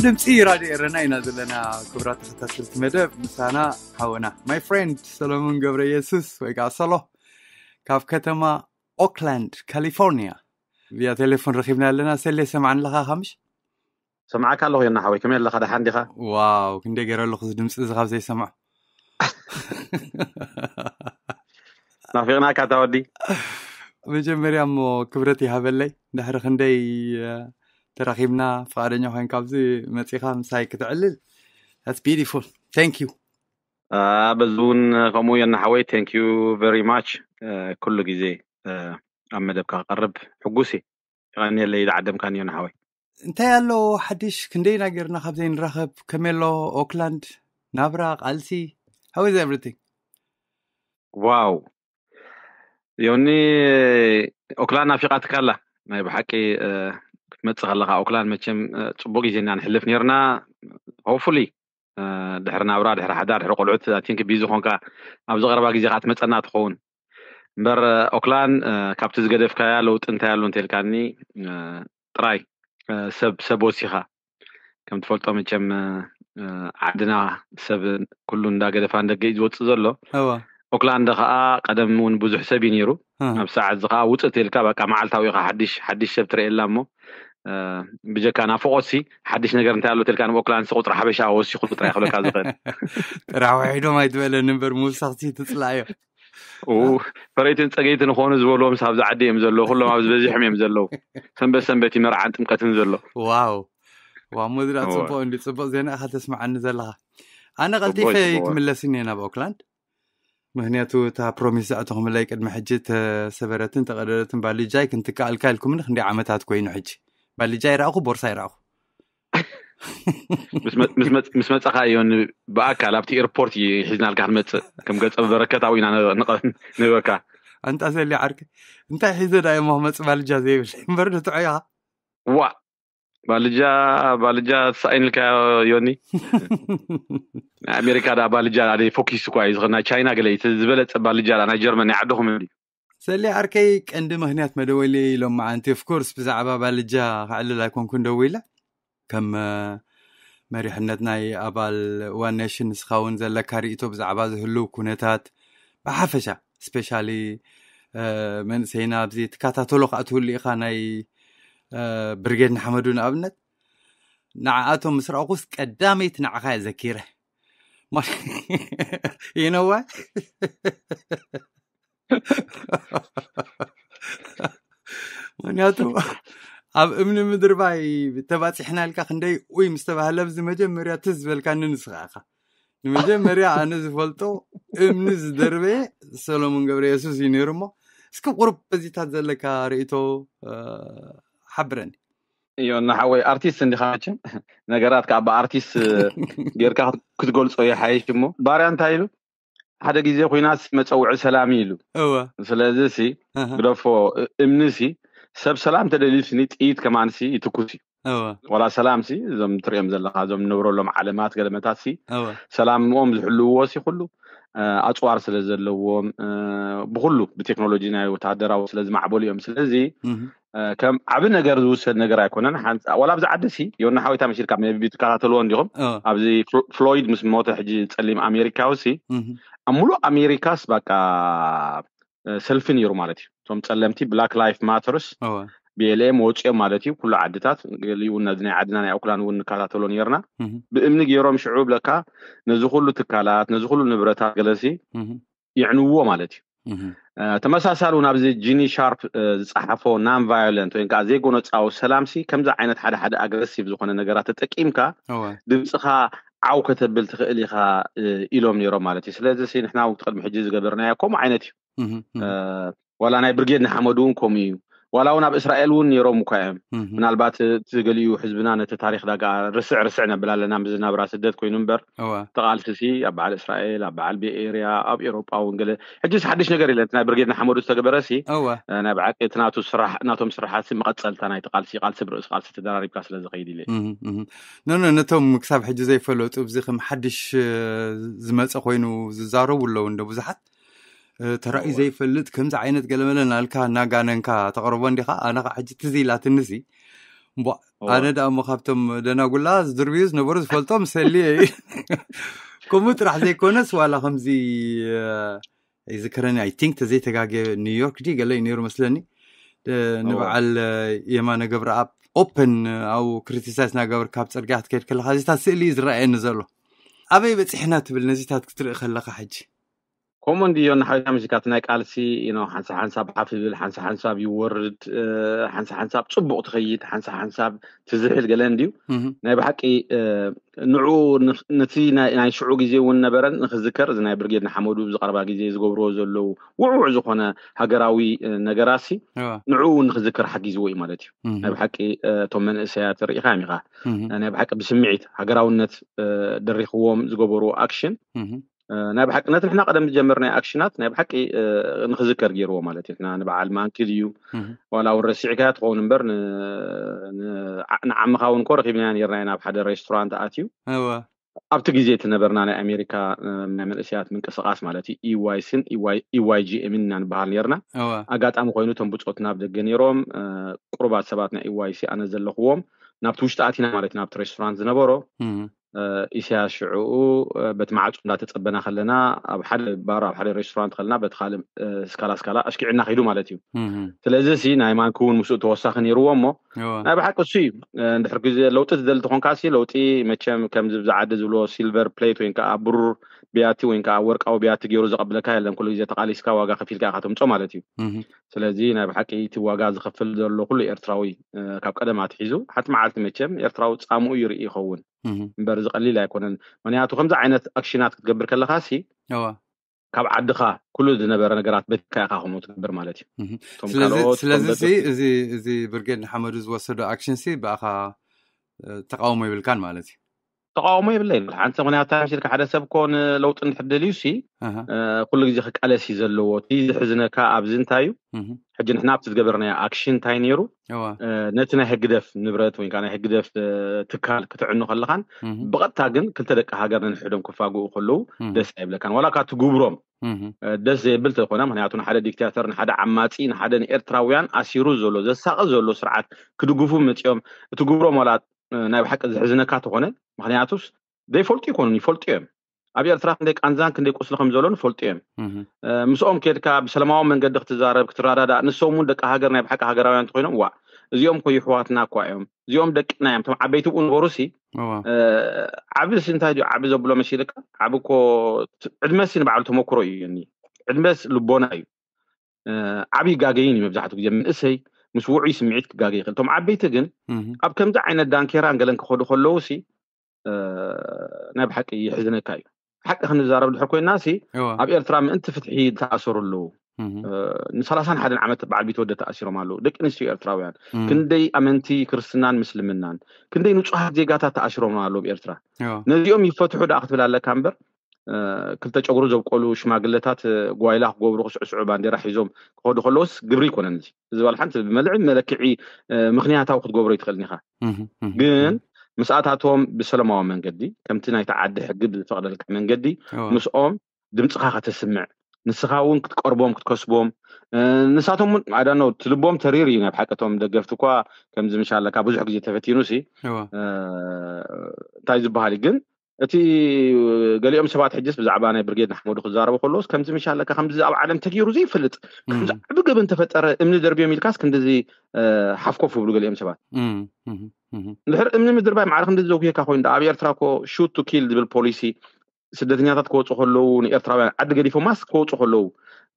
ድምፂ ራድዮ ኤረና ኢና ዘለና። ክቡራት ተኸታተልቲ መደብ፣ ምሳና ሓወና my friend ሰሎሞን ገብረ ኢየሱስ ወይ ከዓ ሰሎ ካብ ከተማ ኦክላንድ ካሊፎርኒያ ብያ ቴሌፎን ረኺብና ኣለና። ሰሌ፣ ሰማዕኒ ኣለኻ? ካምሽ ሰማዕካ ኣለኹ። ዮና ሓወይ፣ ከመይ ኣለኻ? ደሓን ዲኻ? ዋው፣ ክንደይ ገይረ ኣለኹ እዚ ድምፂ እዚ ካብ ዘይሰምዖ። ናፊቕናካ እታ ወዲ። መጀመርያ እሞ ክብረት ይሃበለይ፣ ድሕሪ ክንደይ ተራኺብና ፍቓደኛ ኮይንካ ኣብዚ መፂኻ ምሳይ ክትዕልል፣ that's beautiful, thank you። በዚ እውን ከምኡ። ዮና ሓወይ፣ thank you very much። ኩሉ ግዜ ኣብ መደብካ ክቐርብ ሕጉስ እየ። የቐንየለይ ዝዓደምካኒ ዮና ሓወይ። እንታይ ኣሎ ሓድሽ? ክንደይና ጌርና ካብ ዘይንራኸብ። ከመይ ኣሎ ኦክላንድ? ናብራ፣ ቃልሲ? How is everything? ዋው ዮኒ፣ ኦክላንድ ናፊቓትካ ኣላ። ናይ ብሓቂ ክትመጽእ ከለኻ ኦክላንድ መቸም ጽቡቕ ግዜ ኢና ንሕልፍ ኔርና። Hopefully ድሕሪ ናብራ፣ ድሕሪ ሓዳር፣ ድሕሪ ቆልዑት I think ቢዚ ኾንካ ኣብዚ ቀረባ ግዜ ከዓ ትመጸና ትኸውን። እምበር ኦክላንድ ካብቲ ዝገደፍካያ ለውጢ እንታይ ኣሎ እንተልካኒ፣ ጥራይ ሰብ ሰብ ወሲኻ። ከም ትፈልጦ መቸም ዓድና ሰብ ኩሉ እንዳገደፋ ንደገ እዩ ዝወፅእ ዘሎ። ኦክላንድ ከዓ ቀደም እውን ብዙሕ ሰብ እዩ ነይሩ። ኣብ ሰዓት እዚ ከዓ ውፅእ ተልካ በቃ መዓልታዊ ኢኻ ሓድሽ ሓድሽ ሰብ ትርእየላ እሞ ብጀካ ናፍቆትሲ ሓድሽ ነገር እንታይ ኣሎ ተልካ ንኦክላንድ ቁፅሪ ሓበሻ ወሲኹ ጥራይ ክብለካ ዝኽእል። ጥራሕ ውሒዶም ኣይትበለኒ እምበር ምውሳኽሲ ትፅላእዮ። ፈረይትን ፀገይትን ንኾኑ ዝበልዎም ኣብዚ ዓዲ እዮም ዘለዉ። ኩሎም ኣብዚ በዚሖም እዮም ዘለዉ። ሰንበት ሰንበት እዩ መርዓን ጥምቀትን ዘሎ። ዋው ዋው፣ ሞድራ ጽቡቅ እንዲ ጽቡቅ ዜና ኢኻ ተስምዓኒ ዘለኻ። ኣነ ቀልጢፈ ክምለስን እየ ናብ ኦክላንድ፣ ምክንያቱ እታ ፕሮሚስ ዘእተኹምለይ ቅድሚ ሕጂ ተሰበረትን ተቀደደትን ባልጃይ ክንትክኣልካ ኢልኩምኒ ክንደይ ዓመታት ኮይኑ። ሕጂ ባልጃ ይረኣኹ፣ ቦርሳ ይረኣኹ። ምስ መፃኻ እዮ ብኣካል ኣብቲ ኤርፖርት እዩ ሒዝናልካ ክንመፅእ። ከም ገፀ በረከት ኣብኡ ኢና ንበካ። ኣንታ ሰሊ ዓርኪ፣ እንታይ ሒዘ ዳ እሞ ክመፅእ ባልጃ ዘይብል እምበር ንትዖ ኢኻ። ዋ ባልጃ ባልጃ ተሳኢንልካ ዮኒ። ናይ ኣሜሪካ ዳ ባልጃ ኣደ ፎኪስ እኳ እዩ ዝኽእል። ናይ ቻይና ገለ እዩ ዝበለፀ ባልጃ ዳ ናይ ጀርመን ናይ ዓድኹም እንዲ። ሰሊ ዓርከይ፣ ቀንዲ ምክንያት መደወሊ ሎም መዓንቲ ኦፍኮርስ ብዛዕባ ባልጃ ክዕልል ኣይኮንኩን ደዊለ። ከም መሪሕነት ናይ ኣባል ዋን ኔሽን ንስኻ እውን ዘለካ ርእቶ ብዛዕባ ዝህልው ኩነታት ብሓፈሻ ስፔሻሊ መንእሰይና ኣብዚ ትከታተሎ ከዓ ትህሉ ኢኻ። ናይ ብርጌድ ንሓመዱ ንኣብነት ንዓኣቶም ምስ ረኣኹስ ቀዳመይቲ ንዓኻ እየ ዘኪረ። ይነዋ ምክንያቱ ኣብ እምኒ ምድርባይ ተባፂሕና ኢልካ ክንደይ ኡይ ምስ ተባህለ ኣብዚ መጀመርያ ትዝ ዝበልካኒ ንስኻ ኢኻ። ንመጀመርያ ኣነ ዝፈልጦ እምኒ ዝደርበየ ሰሎሞን ገብረ የሱስ እዩ ነይሩ። እሞ እስኪ ቁሩብ በዚታት ዘለካ ርእቶ ሓብረኒ። እዮ እናሓወይ ኣርቲስት እንዲኻ መቸም ነገራት ከዓ ብኣርቲስት ጌርካ ክትገልፆ ይሓይሽ። እሞ ባርያ እንታይ ኢሉ ሓደ ግዜ ኩናት መፀውዒ ሰላም እዩ ኢሉ። እወ ስለዚ ሲ ኣሃ። ግደፎ እምኒ ሲ ሰብ ሰላም ተደልዩ ስኒ ጥይት ከማን ሲ ይትኩስ እዩ። እወ ዋላ ሰላም ሲ እዞም ትሪኦም ዘለካ እዞም ንነብረሎም ዓለማት ገለመታት ሲ እወ ሰላምኦም ዝሕልውዎ ሲ ኩሉ እ፣ ኣፅዋር ስለ ዘለዎም እ፣ ብኩሉ ብቴክኖሎጂ ናይ ወታደራዊ ስለ ዝማዕበሉ እዮም። ስለዚ እህ፣ እ፣ ከም ዓቢ ነገር ዝውሰድ ነገር ኣይኮነን። ሓንፃ ዋላ ኣብዚ ዓዲ ሲ ዮና ሓወይታ መሲልካ ቢ ትከታተልዎ እንዲኹም። እወ ኣብዚ ፍሎ- ፍሎይድ ምስ ሞተ ሕጂ ጸሊም ኣሜሪካዊ ሲ እህ፣ ኣብ ሙሉእ ኣሜሪካስ በቃ እ፣ ሰልፊ ነይሩ ማለት እዩ። እቶም ጸለምቲ ብላክ ላይፍ ማተርስ እወ ቢኤልኤም ወፂኦም ማለት እዩ። ኩሉ ዓድታት ገሊኡ ነዚ ናይ ዓድና ናይ ኦክላንድ እውን ንከታተሎ ነርና። እህ፣ ብእምኒ ገይሮም ሽዑ ብለካ ነዚ ኩሉ ትካላት ነዚ ኩሉ ንብረታት ገለሲ እህ፣ የዕንዎ ማለት እዩ። እህ፣ እ፣ ተመሳሳሊ እውን ኣብዚ ጂኒ ሻርፕ እ፣ ዝፀሓፎ ናን ቫዮለንት ወይ ከዓ ዘይጎነፃዊ ሰላምሲ ከምዚ ዓይነት ሓደ ሓደ ኣግረሲቭ ዝኾነ ነገራት ተጠቂምካ እወ ድምፅኻ ዓው ከተብል ትኽእል ኢኻ እ፣ ኢሎም ነይሮም ማለት እዩ። ስለዚ ሲ ንሕና እውን ቅድሚ ሕጂ ዝገበርናዮ ከምኡ ዓይነት እዩ። እህ፣ እህ፣ እ፣ ዋላ ናይ ብርጌድ ንሓመዱ እውን ከምኡ እዩ። ዋላ እውን ኣብ እስራኤል እውን ነይሮም እኳ እዮም። እህ፣ ምናልባት እቲ ገሊኡ ህዝብና ነቲ ታሪክ ዳጋ ርስዕ ርስዕ ነብል ኣለና ምስ ዝናብራ ስደት ኮይኑ እምበር እወ ተቓልሲ ሲ ኣብ በዓል እስራኤል ኣብ በዓል ቤኤርያ ኣብ ኤሮጳ እውን ገለ ሕጂስ ሓድሽ ነገር የለን። እቲ ናይ ብርጌድ ንሓመዱ ዝተገበረ ሲ እወ እ፣ ናይ ብሓቂ እቲ ናቱ ስራሕ ናቶም ስራሓት ሲ መቐፀልታ ናይ ተቓልሲ ቃልሲ ብርእሲ ቃልሲ ተደራሪብካ ስለ ዝኸይድ ኢለ እህ፣ እህ። ኖ ኖ ነቶም ክሳብ ሕጂ ዘይፈለጡ እዚ ከም ሓድሽ እ፣ ዝመፀ ኮይኑ ዝዛረቡ ኣለዉ እንደ ብዙሓት እ፣ ተራእዩ እወ ዘይፈልጥ ከምዚ ዓይነት ገለመለ ናልካ እናጋነንካ ተቕርቦ እንዲኻ። ኣነ ኸዓ ሕጂ ትዝ ኢላትኒ ሲ እምቧ ኣነ ደኣ እሞ ካብቶም ደናጉላ ዝድርብዩ ዝነበሩ ዝፈልጦም ሰልየ እዩ። ከምኡ ጥራሕ ዘይኮነስ ዋላ ከምዚ ይዝከረኒ፣ I think ተዘይተጋገ ኒውዮርክ ዲ ገለ እዩ ነይሩ መስለኒ። ንበዓል የማነ ገብረኣብ ኦፕን ኣብኡ ክሪቲሳይዝ ናገበርካ ኣብ ፅርግያ ክትከይድ ከለካ እዚታት ስእሊ እዩ ዝረኣየኒ ዘሎ። ኣበይ በፂሕና ትብል ነዚታት ክትርኢ ከለካ ሕጂ? ከምኡ እንድዮ ንሓዊታ ምሽካት ናይ ቃልሲ ኢኖ ሓንሳ ሓንሳብ ሓፍ ይብል፣ ሓንሳ ሓንሳብ ይወርድ፣ ሓንሳ ሓንሳብ ፅቡቅ ትኸይድ፣ ሓንሳ ሓንሳብ ትዝሕል ገለ እንድዩ። ናይ ብሓቂ ንዑ ነቲ ናይ ሽዑ ግዜ እውን ነበረን ንክዝከር እዚ ናይ ብርጌድ ንሓመዱ ብዝቀረባ ግዜ ዝገብርዎ ዘለዉ ውዕውዕ ዝኾነ ሃገራዊ ነገራሲ ንዑ እውን ንክዝከር ሓጊዝዎ እዩ ማለት እዩ። ናይ ብሓቂ እቶም መንእሰያት ርኢኻ ኢኻ ናይ ብሓቂ ብስምዒት ሃገራውነት ደሪኽዎም ዝገበርዎ ኣክሽን ናይ ብሓቂ ነቲ ንሕና ቀደም ዝጀመርናዮ ኣክሽናት ናይ ብሓቂ ንክዝከር ገይርዎ ማለት እዩ። ንሕና ንበዓል ማንኪ ድዩ ዋላ እውን ረሲዕካያ ትኸውን እምበር ንዓምኻ እውን ኮ ረኪብናያ ነርና ኢና ኣብ ሓደ ሬስቶራንት ኣትዩ ኣብቲ ግዜ እቲ ነበርና ናይ ኣሜሪካ ናይ መንእሰያት ምንቅስቃስ ማለት እዩ ኢዋይሲን ኢዋይጂኤምን ኢና ንበሃል ነርና። ኣጋጣሚ ኮይኑ እቶም ብፆትና ኣብ ደገ ነይሮም ቅሩባት ሰባት ናይ ኢዋይሲ ኣነ ዘለኽዎም ናብቲ ውሽጢ ኣቲና ማለት ናብቲ ሬስቶራንት ዝነበሮ ኢሳያስ ሽዕኡ በቲ ማዕፁ እንዳተፀበና ከለና ኣብ ሓደ ባር ኣብ ሓደ ሬስቶራንት ከለና በቲ ካልእ ስካላ ስካላ ኣሽኪዕና ከይዱ ማለት እዩ። ስለዚ ሲ ናይ ማንኪ እውን ምስኡ ተወሳኺ ነይርዎ እሞ ናይ ብሓቂ እሱ እዩ። እንድሕር ግዜ ለውጢ ትደሊ ተኾንካ ሲ ለውጢ መቸም ከምዚ ብዛ ዓዲ ዝብሎ ሲልቨር ፕሌት ወይ ከዓ ብሩር ቢያቲ ወይ ከዓ ወርቃዊ ቢያቲ ገይሩ ዘቐብለካ የለን። ኩሉ ግዜ ተቃሊስካ ዋጋ ከፊልካ ኢካ ተምፆ ማለት እዩ። ስለዚ ናይ ብሓቂ እቲ ዋጋ ዝኸፍል ዘሎ ኩሉ ኤርትራዊ ካብ ቀደም ኣትሒዙ ሓንቲ መዓልቲ መቸም ኤርትራዊ ፃምኡ ይርኢ ይኸውን እምበር ዝቀሊል ኣይኮነን። ምክንያቱ ከምዚ ዓይነት ኣክሽናት ክትገብር ከለካ ሲ ካብ ዓድኻ ኩሉ ዝነበረ ነገራት በቲካ ኢካ ከምኡ ትገብር ማለት እዩ። ስለዚ እዚ እዚ ብርጌድ ንሓመዱ ዝወሰዶ ኣክሽን ሲ ብኣኻ ተቃውሞ ይብልካን ማለት እዩ? ተቃውሞ የብለይ። ሓንቲ ምክንያት ታምሲልካ ሓደ ሰብ ኮ ንለውጢ እንድሕር ደልዩ ሲ ኩሉ ግዜ ክቃለስ እዩ ዘለዎ። እቲ ዝሕዝነካ ኣብዚ እንታይ እዩ ሕጂ ንሕና ኣብቲ ዝገበርናዮ ኣክሽን እንታይ ነይሩ ነቲ ናይ ህግደፍ ንብረት ወይ ናይ ህግደፍ ትካል ክትዕኑ ከለኻን ብቐጥታ ግን ክልተ ደቂ ሃገር ነንሕዶም ክፋግኡ ከለዉ ደስ ኣይብለካን ዋላ ካብ ትግብሮም ደስ ዘየብል ተኮነ። ምክንያቱ ንሓደ ዲክታተር ንሓደ ዓማፂ ንሓደ ንኤርትራውያን ኣሲሩ ዘሎ ዘሳቂ ዘሎ ስርዓት ክድግፉ መፂኦም እቲ ግብሮም ዋላ ናይ ብሓቂ ዝሕዝነካ ተኮነ ምክንያቱስ ዘይፈልጡ ይኮኑን ይፈልጡ እዮም። ኣብ ኤርትራ ክንደይ ቃንዛን ክንደይ ቁስሊ ከም ዘሎ ንፈልጡ እዮም። ምስኦም ከድካ ብሰላማዊ መንገዲ ክትዛረብ ክትረዳዳእ ንሶም እውን ደቂ ሃገር ናይ ብሓቂ ሃገራውያን እንተኮይኖም ዋ እዚኦም ኮ ይሕዋትና እኳ እዮም እዚኦም ደቅና እዮም እቶም ዓበይቲ ብኡ ነበሩ ሲ ዓቢ ሲ እንታይ ድዩ ዓቢ ዘብሎ መሲልካ ዓቢ እኮ ዕድመ ሲ ንባዕሉ ተመክሮ እዩ እኒ ዕድመስ ልቦና እዩ። ዓቢ ይጋገይን እዩ መብዛሕትኡ ግዜ መንእሰይ ምስ ውዑይ ስምዒት ክጋገይ ይኽእል። እቶም ዓበይቲ ግን ኣብ ከምዚ ዓይነት ዳንኬራን ገለን ክኸዱ ከለዉ ሲ ናይ ብሓቂ ይሕዝነካ እዩ። ሓቂ ክንዛረብ ድሕር ኮይና ሲ ኣብ ኤርትራ ምእንቲ ፍትሒ ዝተኣሰሩ ኣለዉ። ንሰላሳን ሓደን ዓመት በዓል ቢትወደድ ተኣሲሮም ኣለዉ። ደቂ ኣንስትዮ ኤርትራውያን ክንደይ ኣመንቲ ክርስትናን ምስልምናን ክንደይ ንጹሃት ዜጋታት ተኣሲሮም ኣለዉ ኣብ ኤርትራ። ነዚኦም ይፈትሑ ደኣ ክትብል ኣለካ እምበር ክልተ ጨጉሩ ዘብቆሉ ሽማግለታት ጓይላ ክገብሩ ክስዕስዑ ባንዴራ ሒዞም ክኸዱ ከለዎስ ግብሪ ይኮነን። እዚ ዝበሃል ሓንቲ ብመልዕ መለክዒ ምክንያታዊ ክትገብሮ ይትኽእል ኢኻ። ግን ምስኣታቶም ብሰለማዊ መንገዲ ከምቲ ናይቲ ዓዲ ሕጊ ብዝፈቕደልካ መንገዲ ምስኦም ድምፅኻ ከተስምዕ ንስኻ እውን ክትቀርቦም ክትከስቦም ንሳቶም እውን ኣዳኖ ትልቦም ተሪር እዩ። ናይ ብሓቀቶም ደገፍቲ እኳ ከምዚ ምሻ ኣለካ ብዙሕ ግዜ ተፈቲኑ ሲ እንታይ ዝበሃል እዩ ግን እቲ ገሊኦም ሰባት ሕጅስ ብዛዕባ ናይ ብርጌድ ንሓመዱ ክዛረቡ ከለዎስ ከምዚ ምሻ ኣለካ ከምዚ ኣብ ዓለም ተገይሩ ዘይፈልጥ ከምዚ ዓቢ ገበን ተፈጠረ እምኒ ደርብዮም ኢልካስ ክንዲዚ ሓፍኮፍ ይብሉ ገሊኦም ሰባት። እንድሕር እምኒ ምድርባይ ማዕረ ክንዲ ዘጉየካ ኮይኑ ኣብ ኤርትራ ኮ ሹት ቱ ኪል ዝብል ፖሊሲ ስደተኛታት ክወፁ ከለዉ ንኤርትራውያን ዓዲ ገዲፎማስ ክወፁ ከለዉ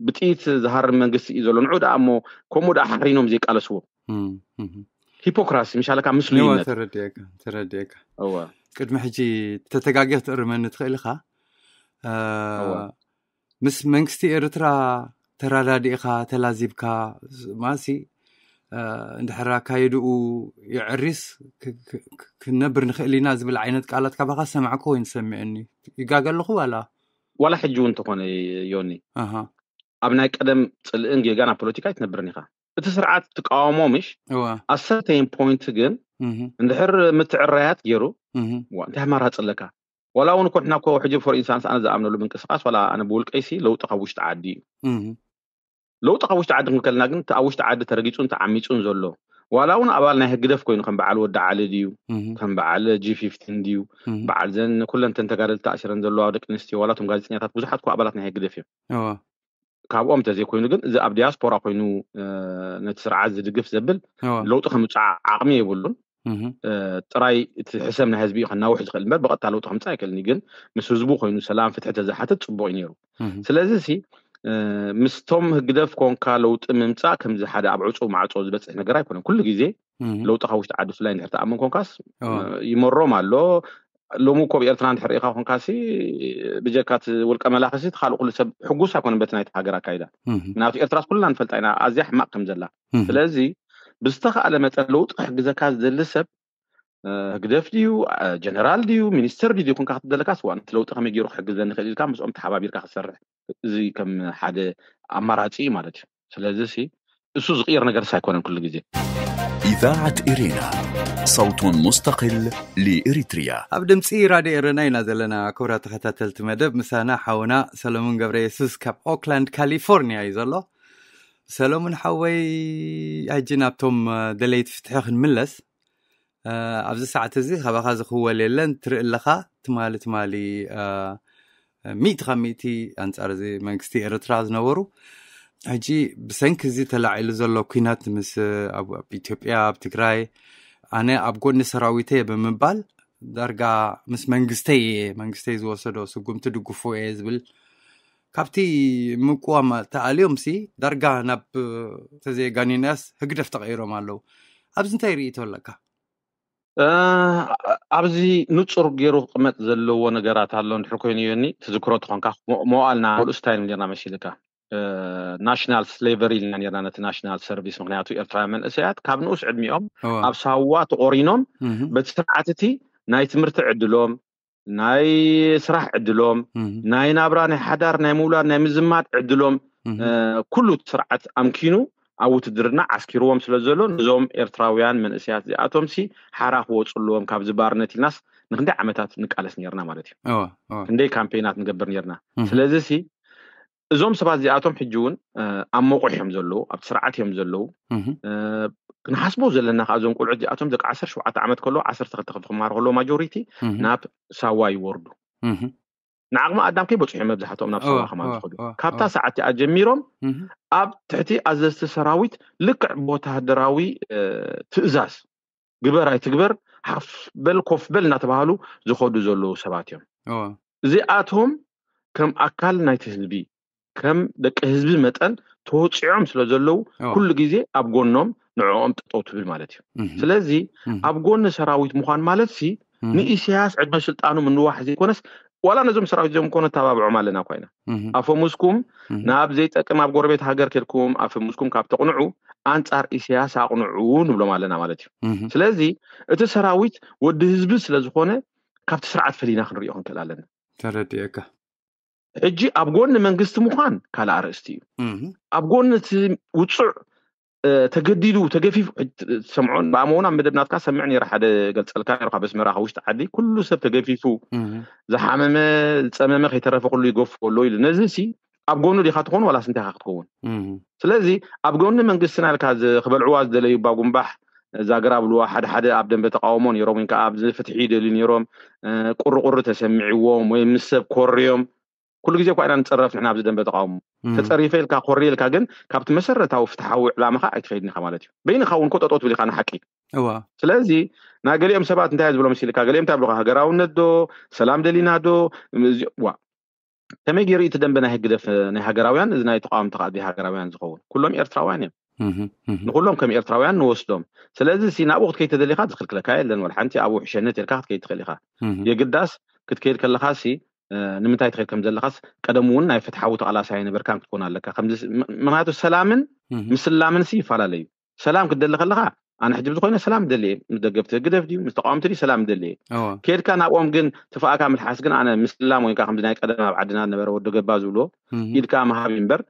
ብጥይት ዝሃርም መንግስቲ እዩ ዘሎ። ንዑ ደኣ እሞ ከምኡ ደኣ ሓሪኖም ዘይቃለስዎ ሂፖክራሲ ምሻለካ ምስሉይነት። ተረዲኤካ ተረዲኤካ። ቅድሚ ሕጂ ተተጋጊ ክትእርመኒ ትኽእል ኢኻ። ምስ መንግስቲ ኤርትራ ተራዳዲእኻ ተላዚብካ ማሲ እንድሕር ኣካየድኡ ይዕሪስ ክንነብር ንኽእል ኢና ዝብል ዓይነት ቃላት ካባኻ ሰማዕኩ ወይ ንሰምዕኒ ይጋገ ኣለኹ ዋላ? ዋላ ሕጂ እውን እንተኾነ ዮኒ ኣብ ናይ ቀደም ፅልእን ጌጋን ኣብ ፖለቲካ ኣይትነብርን ኢኻ። እቲ ስርዓት ትቃወሞ ምሽ ኣሰርተይን ፖይንት ግን እንድሕር ምትዕራያት ገይሩ እንታይ ኣማራፂ ኣለካ? ዋላ እውን እኮ ንሕና እኮ ሕጂ ፎር ኢንስታንስ ኣነ ዝኣምነሉ ምንቅስቃስ ዋላ ኣነ ብውልቀይሲ ለውጢ ካብ ውሽጢ ዓዲ እዩ። ለውጢ ካብ ውሽጢ ዓዲ ክንከልና ግን ኣብ ውሽጢ ዓዲ ተረጊፁን ተዓሚፁን ዘሎ ዋላ እውን ኣባል ናይ ህግደፍ ኮይኑ ከም በዓል ወዲ ዓሊ ድዩ፣ ከም በዓል ጂ ፊፍቲን ድዩ፣ በዓል ዘን ኩለን ተን ተጋደልቲ ተኣሲረን ዘለዋ ደቂ ኣንስትዮ ዋላ እቶም ጋዜጠኛታት ብዙሓት እኮ ኣባላት ናይ ህግደፍ እዮም። ካብኦም እንተዘይኮይኑ ግን እዚ ኣብ ዲያስፖራ ኮይኑ ነቲ ስርዓት ዝድግፍ ዘብል ለውጢ ከምፅዓ ዓቕሚ የብሉን። ጥራይ እቲ ሕሰም ናይ ህዝቢ እዩ ከናውሕ ዝኽእል እምበር ብቐጥታ ለውጢ ከምፅእ ኣይክእልን እዩ። ግን ምስ ህዝቡ ኮይኑ ሰላም ፍትሒ ተዝሓትት ፅቡቅ እዩ ነይሩ። ስለዚ ሲ ምስቶም ህግደፍ ኮንካ ለውጢ ምምፃእ ከምዚ ሓደ ኣብ ዕፁ ማዕፆ ዝበፅሕ ነገር ኣይኮነን። ኩሉ ግዜ ለውጢ ካብ ውሽጢ ዓዲ ብፍላይ እንድሕር ተኣምን ኮንካስ ይመሮም ኣሎ። ሎሚ እኮ ኣብ ኤርትራ እንድሕር ርኢኻ ኮንካሲ ብጀካ እቲ ውልቀ መላኺ ሲ እቲ ካልእ ኩሉ ሰብ ሕጉስ ኣይኮነን በቲ ናይቲ ሃገር ኣካይዳ። ምክንያቱ ኤርትራስ ኩልና ንፈልጣ ኢና ኣዝያ ሕማቕ ከም ዘላ። ስለዚ ብዝተኻእለ መጠን ለውጢ ክሕግዘካ ዝደሊ ሰብ ህግደፍ ድዩ፣ ጀነራል ድዩ፣ ሚኒስተር ድዩ ኮንካ ክትደለካ ስዋ ነቲ ለውጢ ከመይ ገይሩ ክሕግዘኒ ክእል ኢልካ ምስኦም ተሓባቢርካ ክትሰርሕ፣ እዚ ከም ሓደ ኣማራፂ እዩ ማለት እዩ። ስለዚ ሲ እሱ ዝቕየር ነገር ኣይኮነን ኩሉ ግዜ። إذاعة إرينا، صوت مستقل لإريتريا. ኣብ ድምፂ ራድዮ ኤረና ኢና ዘለና። ክቡራት ተኸታተልቲ መደብ ምሳና ሓውና ሰሎሙን ገብረ የሱስ ካብ ኦክላንድ ካሊፎርኒያ እዩ ዘሎ። ሰሎሙን ሓወይ፣ ሕጂ ናብቶም ደለይቲ ፍትሒ ክንምለስ። ኣብዚ ሰዓት እዚ ካባኻ ዝኽወል የለን። ትርኢ ኣለኻ፣ ትማሊ ትማሊ ሚእቲ ካብ ሚእቲ ኣንጻር እዚ መንግስቲ ኤርትራ ዝነበሩ፣ ሕጂ ብሰንኪ እዚ ተላዒሉ ዘሎ ኩናት ምስ ኣብ ኢትዮጵያ ኣብ ትግራይ ኣነ ኣብ ጎኒ ሰራዊተ ብምባል ዳርጋ ምስ መንግስተይ እየ፣ መንግስተይ ዝወሰዶ ስጉምቲ ድግፎ እየ ዝብል ካብቲ ምቅዋም ተኣልዮም ሲ ዳርጋ ናብ ተዘየጋኒናያስ ህግደፍ ተቐይሮም ኣለዉ። ኣብዚ እንታይ ርእይቶ ኣለካ? ኣብዚ ንጹር ገይሩ ክቕመጥ ዘለዎ ነገራት ኣሎ። እንድሕር ኮይኑ ዮኒ ትዝክሮ ትኾንካ መዋልና ሙሉእ ስታይል ጌርና መሲልካ ናሽናል ስሌቨሪ ኢልና ኔርና ነቲ ናሽናል ሰርቪስ። ምክንያቱ ኤርትራውያን መንእሰያት ካብ ንኡስ ዕድሚኦም ኣብ ሳዋ ተቆሪኖም በቲ ስርዓት እቲ ናይ ትምህርቲ ዕድሎም፣ ናይ ስራሕ ዕድሎም፣ ናይ ናብራ ናይ ሓዳር ናይ ምውላድ ናይ ምዝማድ ዕድሎም ኩሉ ስርዓት ኣምኪኑ ኣብ ውትድርና ዓስኪርዎም ስለ ዘሎ ነዞም ኤርትራውያን መንእሰያት እዚኣቶም ሲ ሓራ ክወፁ ኣለዎም ካብዚ ባርነት ኢልናስ ንክንደይ ዓመታት ንቃለስ ኔርና ማለት እዩ። ክንደይ ካምፔናት ንገብር ኔርና። ስለዚ ሲ እዞም ሰባት እዚኣቶም ሕጂ እውን ኣብ መቑሕ እዮም ዘለዉ፣ ኣብቲ ስርዓት እዮም ዘለዉ። ክንሓስቦ ዘለና ከዓ እዞም ቆልዑ እዚኣቶም ደቂ ዓሰርተ ሸውዓተ ዓመት ከለዉ ዓሰርተ ክልተ ክፍሊ ክመሃሩ ከለዉ ማጆሪቲ ናብ ሳዋ ይወርዱ። ንዓቕሚ ኣዳም ከይበፅሑ እዮም መብዛሕትኦም ናብ ሳዋ ከማን ዝኸዱ። ካብታ ሰዓት እቲኣ ጀሚሮም ኣብ ትሕቲ ኣዘዝቲ ሰራዊት ልክዕ ብወተሃደራዊ ትእዛዝ ግበር ኣይትግበር ሓፍ በል ኮፍ በል እናተባሃሉ ዝኸዱ ዘለዉ ሰባት እዮም። እዚኣቶም ከም ኣካል ናይቲ ህዝቢ ከም ደቂ ህዝቢ መጠን ተወፂዖም ስለ ዘለዉ ኩሉ ግዜ ኣብ ጎኖም ንዕኦም ጠጠው ትብል ማለት እዩ። ስለዚ ኣብ ጎኒ ሰራዊት ምዃን ማለት ሲ ንኢሳያስ ዕድመ ስልጣኑ ምንዋሕ ዘይኮነስ ዋላ ነዞም ሰራዊት እዚኦም እኮ ነተባብዖም ኣለና እኳ ኢና። ኣፈሙዝኩም ናብ ዘይጠቅም ኣብ ጎረቤት ሃገር ከድኩም ኣፈሙዝኩም ካብ ተቕንዑ ኣንጻር ኢሳያስ ኣቕንዑ ንብሎም ኣለና ማለት እዩ። ስለዚ እቲ ሰራዊት ወዲ ህዝቢ ስለ ዝኾነ ካብቲ ስርዓት ፈሊና ክንሪኦ ክንክእል ኣለና። ተረዲኤካ። ሕጂ ኣብ ጎኒ መንግስቲ ምዃን ካልእ ኣርእስቲ እዩ። ኣብ ጎኒ እቲ ውፁዕ ተገዲዱ ተገፊፉ ሰምዖን ብኣመውን ኣብ መደብ ናትካ ሰምዕ ነይረ ሓደ ገልፀልካ ነይሩ ካብ ኣስመራ ካብ ውሽጢ ዓዲ ኩሉ ሰብ ተገፊፉ ዝሓመመ ዝፀመመ ከይተረፈ ኩሉ ይገፍዎ ኣሎ ኢሉ ነዚ ሲ ኣብ ጎኑ ዲኻ ትኾን ዋላስ እንታይ ኢኻ ክትከውን? ስለዚ ኣብ ጎኒ መንግስትና ኢልካ ክበልዕዋ ዝደለዩ ባጉምባሕ ዛገር ኣብልዋ ሓደ ሓደ ኣብ ደንበ ተቃውሞ ነይሮም ወይ ከዓ ኣብዚ ፍትሒ ይደልዩ ነይሮም። ቁርቁሪ ተሰሚዕዎም ወይ ምስ ሰብ ኮርዮም ኩሉ ግዜ እኳ ኢና ንፀረፍ ንሕና ኣብዚ ደንበ ተቃውሞ ተፀሪፈ ኢልካ ኮሪ ኢልካ ግን ካብቲ መሰረታዊ ፍትሓዊ ዕላማኻ ኣይትኸይድን ኢኻ ማለት እዩ። በይንኻ እውን እኮ ጠጠው ትብል ኢኻ ንሓቂ። ስለዚ ናይ ገሊኦም ሰባት እንታይ ዝብሎም ሲልካ ገሊኦም እንታይ ብልካ ሃገራውነት ዶ ሰላም ደሊና ዶ ዋ ከመይ ገይሩ እቲ ደንበ ናይ ህግደፍ ናይ ሃገራውያን እዚ ናይ ተቃወምቲ ከዓ ዘይሃገራውያን ዝኸውን ኩሎም ኤርትራውያን እዮም። ንኩሎም ከም ኤርትራውያን ንወስዶም። ስለዚ ሲ ናብኡ ክትከይድ ተደሊኻ ዝክልክለካ የለን ወላ ሓንቲ ኣብኡ ሕሸነት ኢልካ ክትከይድ ትኽእል ኢኻ። የግዳስ ክትከይድ ከለኻ ሲ ንምንታይ ትኸይድ ከም ዘለኻስ ቀደም እውን ናይ ፍትሓዊ ተቓላሳይ ኣይነበርካን ክትኮን ኣለካ። ምክንያቱ ሰላምን ምስላምን ሲ ይፈላለዩ። ሰላም ክትደሊ ከለኻ ኣነ ሕጂ ብዝኮይነ ሰላም ደሊ ምስ ደገፍቲ ህግደፍ ድዩ ምስ ተቃወምቲ ድዩ ሰላም ደሊ። ከድካ ናብኦም ግን ትፋእካ ምልሓስ ግን ኣነ ምስላም ወይ ከምዚ ናይ ቀደም ኣብ ዓድና ነበረ ወዲ ገባ ዝብሎ ኢድካ ምሃብ እምበር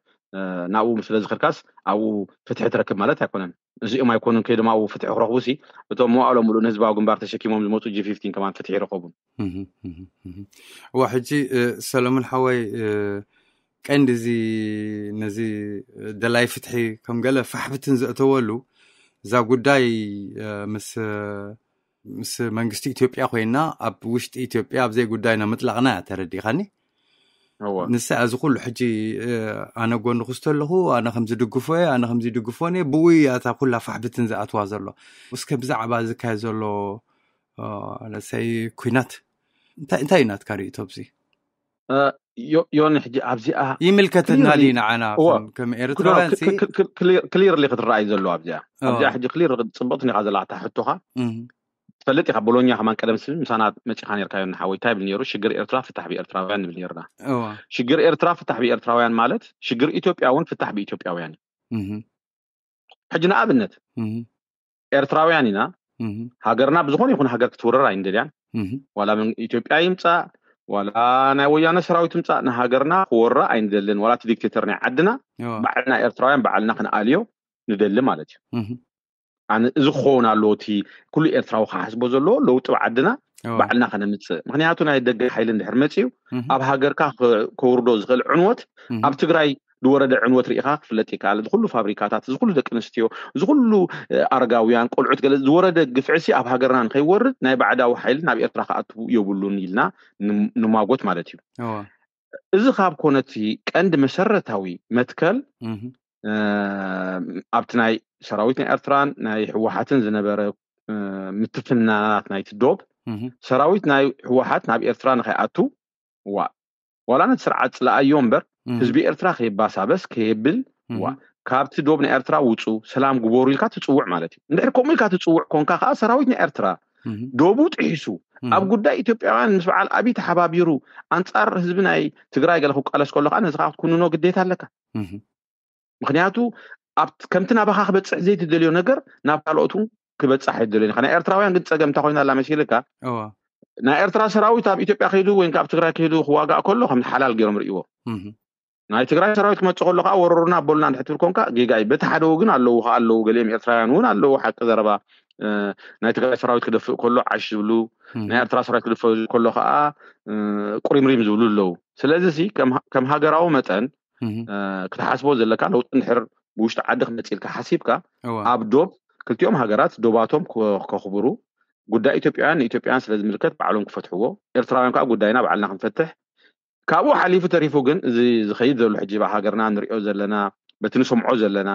ናብኡ ስለ ዝኸድካስ ኣብኡ ፍትሒ ትረክብ ማለት ኣይኮነን። እዚኦም ኣይኮኑን ከይዶም ኣብኡ ፍትሒ ክረኽቡ ሲ እቶም መዋእሎም ሙሉእ ንህዝባዊ ግንባር ተሸኪሞም ዝመፁ ጂ ፊፍቲን ከማን ፍትሒ ይረኸቡን። እዋ ሕጂ ሰለሙን ሓወይ ቀንዲ እዚ ነዚ ደላይ ፍትሒ ከም ገለ ፋሕብትን ዘእተወሉ እዛ ጉዳይ ምስ ምስ መንግስቲ ኢትዮጵያ ኮይና ኣብ ውሽጢ ኢትዮጵያ ኣብዘይ ጉዳይና ምጥላቕና እያ፣ ተረዲኻኒ? ንሳ እዚ ኩሉ ሕጂ ኣነ ጎንኹ ዝተለኹ፣ ኣነ ከምዚ ድግፎ እየ፣ ኣነ ከምዚ ድግፎን እየ፣ ብኡ እያ እታ ኩላ ፋሕብትን ዝኣትዋ ዘሎ። እስከ ብዛዕባ ዝካየድ ዘሎ ለሰይ ኩናት እንታይ እንታይ እዩ ናትካ ርእቶ? ብዚ ዮኒ፣ ሕጂ ኣብዚኣ ይምልከትና ድዩ ንዓና ከም ኤርትራውያን? ክሊርሊ ክትረኣይ ዘሎ ኣብዚኣ ኣብዚኣ ሕጂ ክሊር ጽብቕቲ ኒኻ ዘለካ ሕቶኻ። ትፈልጥ ኢኻ፣ ቦሎኛ ከማን ቀደም ስብ ምሳና መጺኻ ነርካ ዮኒ ሓወይ። እንታይ ብል ነይሩ? ሽግር ኤርትራ ፍታሕ ብኤርትራውያን ንብል ነርና። ሽግር ኤርትራ ፍታሕ ብኤርትራውያን ማለት ሽግር ኢትዮጵያ እውን ፍታሕ ብኢትዮጵያውያን እዩ። ሕጂ ንኣብነት ኤርትራውያን ኢና። ሃገርና ብዝኾነ ይኹን ሃገር ክትውረር ኣይንደልያን። ዋላ ኢትዮጵያ ይምፃእ ዋላ ናይ ወያነ ሰራዊት ይምፃእ ንሃገርና ክወራ ኣይንደልን። ዋላ እቲ ዲክቴተር ናይ ዓድና ባዕልና ኤርትራውያን ባዕልና ክንኣልዮ ንደሊ ማለት እዩ። ኣነ እዚ ክኸውን ኣለዎ፣ እቲ ኩሉ ኤርትራዊ ክሓስቦ ዘለዎ ለውጢ ብዓድና ባዕልና ከነምፅእ። ምክንያቱ ናይ ደገ ሓይሊ እንድሕር መፅዩ ኣብ ሃገርካ ከውርዶ ዝኽእል ዕንወት ኣብ ትግራይ ዝወረደ ዕንወት ርኢኻ ክፍለጥ ይከኣል። እዚ ኩሉ ፋብሪካታት፣ እዚ ኩሉ ደቂ ኣንስትዮ፣ እዚ ኩሉ ኣረጋውያን፣ ቆልዑት ገለ ዝወረደ ግፍዕሲ ኣብ ሃገርና ንከይወርድ ናይ ባዕዳዊ ሓይሊ ናብ ኤርትራ ክኣትዉ የብሉን ኢልና ንማጎት ማለት እዩ። እዚ ካብ ኮነቲ ቀንዲ መሰረታዊ መትከል ኣብቲ ናይ ሰራዊት ናይ ኤርትራን ናይ ህወሓትን ዝነበረ ምትፍናናት ናይቲ ዶብ ሰራዊት ናይ ህወሓት ናብ ኤርትራ ንኸይኣቱ ዋ ዋላ ነቲ ስርዓት ፅለኣዮ እምበር ህዝቢ ኤርትራ ከይባሳበስ ከየብል ዋ ካብቲ ዶብ ናይ ኤርትራ ውፁ ሰላም ግበሩ ኢልካ ትፅውዕ ማለት እዩ። እንድሕር ከምኡ ኢልካ ትፅውዕ ኮንካ ከዓ ሰራዊት ናይ ኤርትራ ዶቡ ጥሒሱ ኣብ ጉዳይ ኢትዮጵያውያን ምስ በዓል ኣብይ ተሓባቢሩ ኣንፃር ህዝቢ ናይ ትግራይ ገለ ክቃለስ ከሎ ከዓ ነዚ ከዓ ክትኩንኖ ግዴታ ኣለካ። ምክንያቱ ከምቲ ናባኻ ክበፅሕ ዘይትደልዮ ነገር ናብ ካልኦት እውን ክበፅሕ ኣይደልዮን ኢኻ። ናይ ኤርትራውያን ግን ፀገም እንታይ ኮይና ኣላ መሲልካ? ናይ ኤርትራ ሰራዊት ኣብ ኢትዮጵያ ከይዱ ወይ ኣብ ትግራይ ከይዱ ክዋጋእ ከሎ ከም ሓላል ገይሮም ርእይዎ። ናይ ትግራይ ሰራዊት ክመፅእ ከሎ ከዓ ወረሩና ኣበሉና እንድሕር ትብል ኮንካ ጌጋ እዩ። በቲ ሓደ ወግን ኣለዉ ከዓ ኣለዉ፣ ገሊኦም ኤርትራውያን እውን ኣለዉ። ሓቂ ዘረባ ናይ ትግራይ ሰራዊት ክደፍእ ከሎ ዓሽ ዝብሉ፣ ናይ ኤርትራ ሰራዊት ክደፍእ ከሎ ከዓ ቁሪምሪም ዝብሉ ኣለዉ። ስለዚ ከም ሃገራዊ መጠን ክትሓስቦ ዘለካ ለውጢ እንድሕር ብውሽጢ ዓዲ ክመፅእ ኢልካ ሓሲብካ ኣብ ዶብ ክልቲኦም ሃገራት ዶባቶም ከኽብሩ ጉዳይ ኢትዮጵያውያን ንኢትዮጵያውያን ስለ ዝምልከት ባዕሎም ክፈትሕዎ፣ ኤርትራውያን ከዓ ጉዳይና ባዕልና ክንፈትሕ። ካብኡ ሓሊፉ ተሪፉ ግን እዚ ዝኸይድ ዘሎ ሕጂ ኣብ ሃገርና ንሪኦ ዘለና በቲ ንሰምዖ ዘለና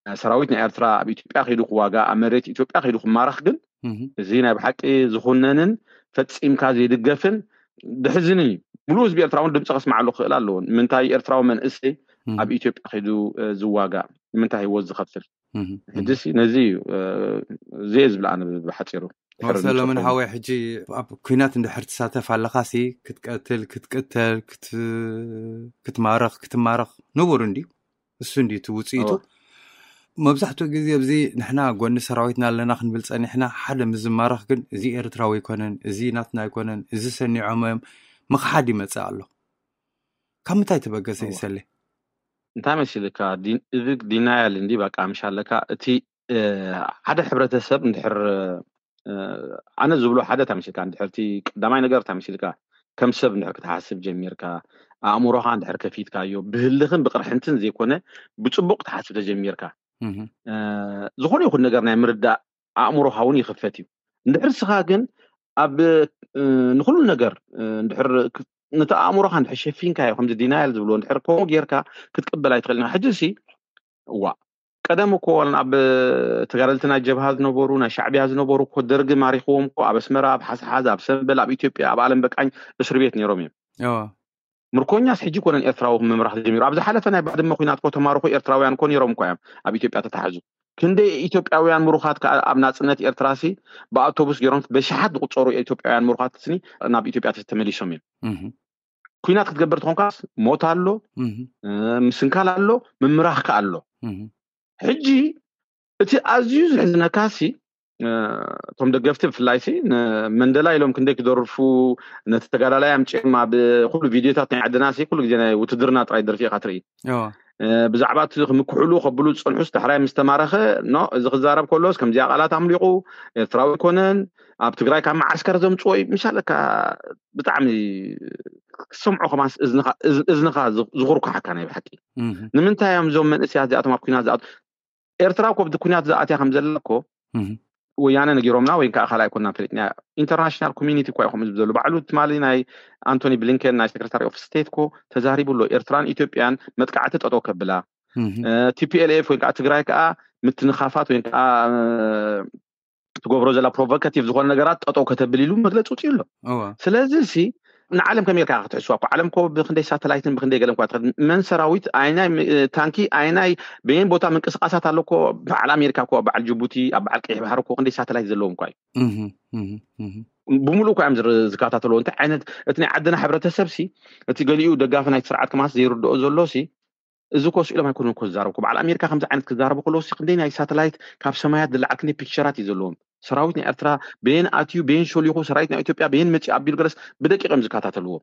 ሰራዊት ናይ ኤርትራ ኣብ ኢትዮጵያ ከይዱ ክዋጋ ኣብ መሬት ኢትዮጵያ ከይዱ ክማረኽ ግን እዚ ናይ ብሓቂ ዝኹነንን ፈፂምካ ዘይድገፍን ድሕዝንን እዩ። ሙሉእ ህዝቢ ኤርትራ እውን ድምፂ ከስማዓሉ ክኽእል ኣለዎ። ንምንታይ ኤርትራዊ መንእሰይ ኣብ ኢትዮጵያ ከይዱ ዝዋጋ ንምንታይ ህይወት ዝኸፍል? ሕጂሲ ነዚ እዩ እዚ እየ ዝብል ኣነ ብሓፂሩ። ሰለሙን ሓወይ፣ ሕጂ ኣብ ኩናት እንድሕር ትሳተፍ ኣለኻሲ ክትቀትል ክትቅተል ክትማረኽ ክትማረኽ ንቡር እንድዩ። እሱ እንድዩ እቲ ውፅኢቱ። መብዛሕትኡ ግዜ ኣብዚ ንሕና ጎኒ ሰራዊትና ኣለና ክንብል ፀኒሕና ሓደ ምዝማረኽ ግን እዚ ኤርትራዊ ኣይኮነን፣ እዚ ናትና ኣይኮነን፣ እዚ ሰኒዖም እዮም ምኽሓድ ይመፅእ ኣሎ። ካብ ምንታይ ተበገሰ ይሰሊ? እንታይ መሲልካ? እዚ ዲናያል እንዲ በቃ ምሽ ኣለካ እቲ ሓደ ሕብረተሰብ እንድሕር ኣነ ዝብሎ ሓደ ታምሲልካ እንድሕርቲ ቀዳማይ ነገር ታምሲልካ ከም ሰብ እንድሕር ክትሓስብ ጀሚርካ ኣእምሮኻ እንድሕር ከፊትካዮ ብህልኽን ብቅርሕንትን ዘይኮነ ብፅቡቅ ክትሓስብ ተጀሚርካ ዝኾነ ይኹን ነገር ናይ ምርዳእ ኣእምሮኻ እውን ይኽፈት እዩ። እንድሕር ስኻ ግን ኣብ ንኩሉ ነገር እንድሕር ነቲ ኣእምሮኻ እንድሕር ሸፊንካዮ ከምዚ ዲናያል ዝብሎ እንድሕር ከምኡ ጌርካ ክትቅበል ኣይትኽእል ኢኻ። ሕጂ ሲ እዋ ቀደም እኮ ኣብ ተጋደልቲ ናይ ጀብሃ ዝነበሩ ናይ ሻዕቢያ ዝነበሩ እኮ ደርጊ ማሪኽዎም እኮ ኣብ ኣስመራ ኣብ ሓስሓዝ ኣብ ሰምበል ኣብ ኢትዮጵያ ኣብ ኣለም በቃኝ እስር ቤት ነይሮም እዮም። ምርኮኛስ ሕጂ ኮነን ኤርትራዊ ምምራሕ ተጀሚሩ። ኣብ ዝሓለፈ ናይ ባድመ ኩናት እኮ ተማርኹ ኤርትራውያን እኮ ነይሮም እኮ እዮም ኣብ ኢትዮጵያ ተታሓዙ። ክንደይ ኢትዮጵያውያን ምሩኻት ከዓ ኣብ ናፅነት ኤርትራ ሲ ብኣውቶቡስ ገይሮም በሽሓት ዝቁፀሩ ኢትዮጵያውያን ምሩኻት ስኒ ናብ ኢትዮጵያ ተመሊሶም እዮም። ኩናት ክትገብር ተኾንካስ ሞት ኣሎ፣ ምስንካል ኣሎ፣ ምምራኽ ከ ኣሎ። ሕጂ እቲ ኣዝዩ ዝሕዝነካ ሲ እቶም ደገፍቲ ብፍላይ ሲ መንደላ ኢሎም ክንደይ ክደርፉ ነቲ ተጋዳላይ ኣምጪም ኣብ ኩሉ ቪድዮታት ናይ ዓድና ሲ ኩሉ ግዜ ናይ ውትድርና ጥራይ ደርፊ ኢኻ ትርኢ። ብዛዕባ እቲ ክምክሕሉ ከብሉ ዝፀንሑስ ዳሕራይ ምስ ተማረኸ ኖ እዚ ክዛረብ ከሎስ ከምዚኣ ቃላት ኣምሊቑ ኤርትራዊ ኣይኮነን ኣብ ትግራይ ካብ መዓስከር ዘምፅዎ እዩ ምሻለካ ብጣዕሚ ክሰምዖ ከማን እዝንኻ ዝኹርኩሓካ ናይ ብሓቂ። ንምንታይ እዮም እዞም መንእሰያት እዚኣቶም ኣብ ኩናት ዝኣት ኤርትራ እኮ ብቲ ኩናት ዝኣትያ ከም ዘላ እኮ ወያነ ነጊሮምና ወይ ከዓ ካልኣይ ኮና ፈሊጥና። ኢንተርናሽናል ኮሚኒቲ እኳ ይኹም ዝብ ዘሎ ባዕሉ ትማሊ ናይ ኣንቶኒ ብሊንከን ናይ ሴክሬታሪ ኦፍ ስቴት እኮ ተዛሪቡ ኣሎ። ኤርትራን ኢትዮጵያን መጥቃዕቲ ጠጠው ከብላ፣ ቲፒኤልኤፍ ወይ ከዓ ትግራይ ከዓ ምትንኻፋት ወይ ከዓ ትገብሮ ዘላ ፕሮቮካቲቭ ዝኾነ ነገራት ጠጠው ከተብል ኢሉ መግለፂ ውፅኡ ኣሎ። ስለዚ ሲ ንዓለም ከመይ ጌርካ ክትሕስዋ እኮ ዓለም ኮ ብክንደይ ሳተላይትን ብክንደይ ገለን ኳ ትኸድ መን ሰራዊት ኣይናይ ታንኪ ኣይናይ በየን ቦታ ምንቅስቃሳት ኣሎ እኮ በዓል ኣሜሪካ እኮ በዓል ጅቡቲ ኣብ በዓል ቀይሕ ባህር እኮ ክንደይ ሳተላይት ዘለዎም እኳ እዩ። ብምሉእ እኳ እዮም ዝከታተልዎ እንታይ ዓይነት እቲ ናይ ዓድና ሕብረተሰብ ሲ እቲ ገሊኡ ደጋፊ ናይቲ ስርዓት ከማስ ዘይርድኦ ዘሎ ሲ እዚ ኮ ስኢሎም ኣይኮኑን እኮ ዝዛረቡ በዓል ኣሜሪካ ከምዚ ዓይነት ክዛረቡ ከለዉ ሲ ክንደይ ናይ ሳተላይት ካብ ሰማያት ዝለዓል ክንደይ ፒክቸራት እዩ ዘለዎም። ሰራዊት ናይ ኤርትራ በየን ኣትዩ በየን ሸሊኹ ሰራዊት ናይ ኢትዮጵያ በየን መፂ ኣቢሉ ገለስ ብደቂቕ እዮም ዝከታተልዎ።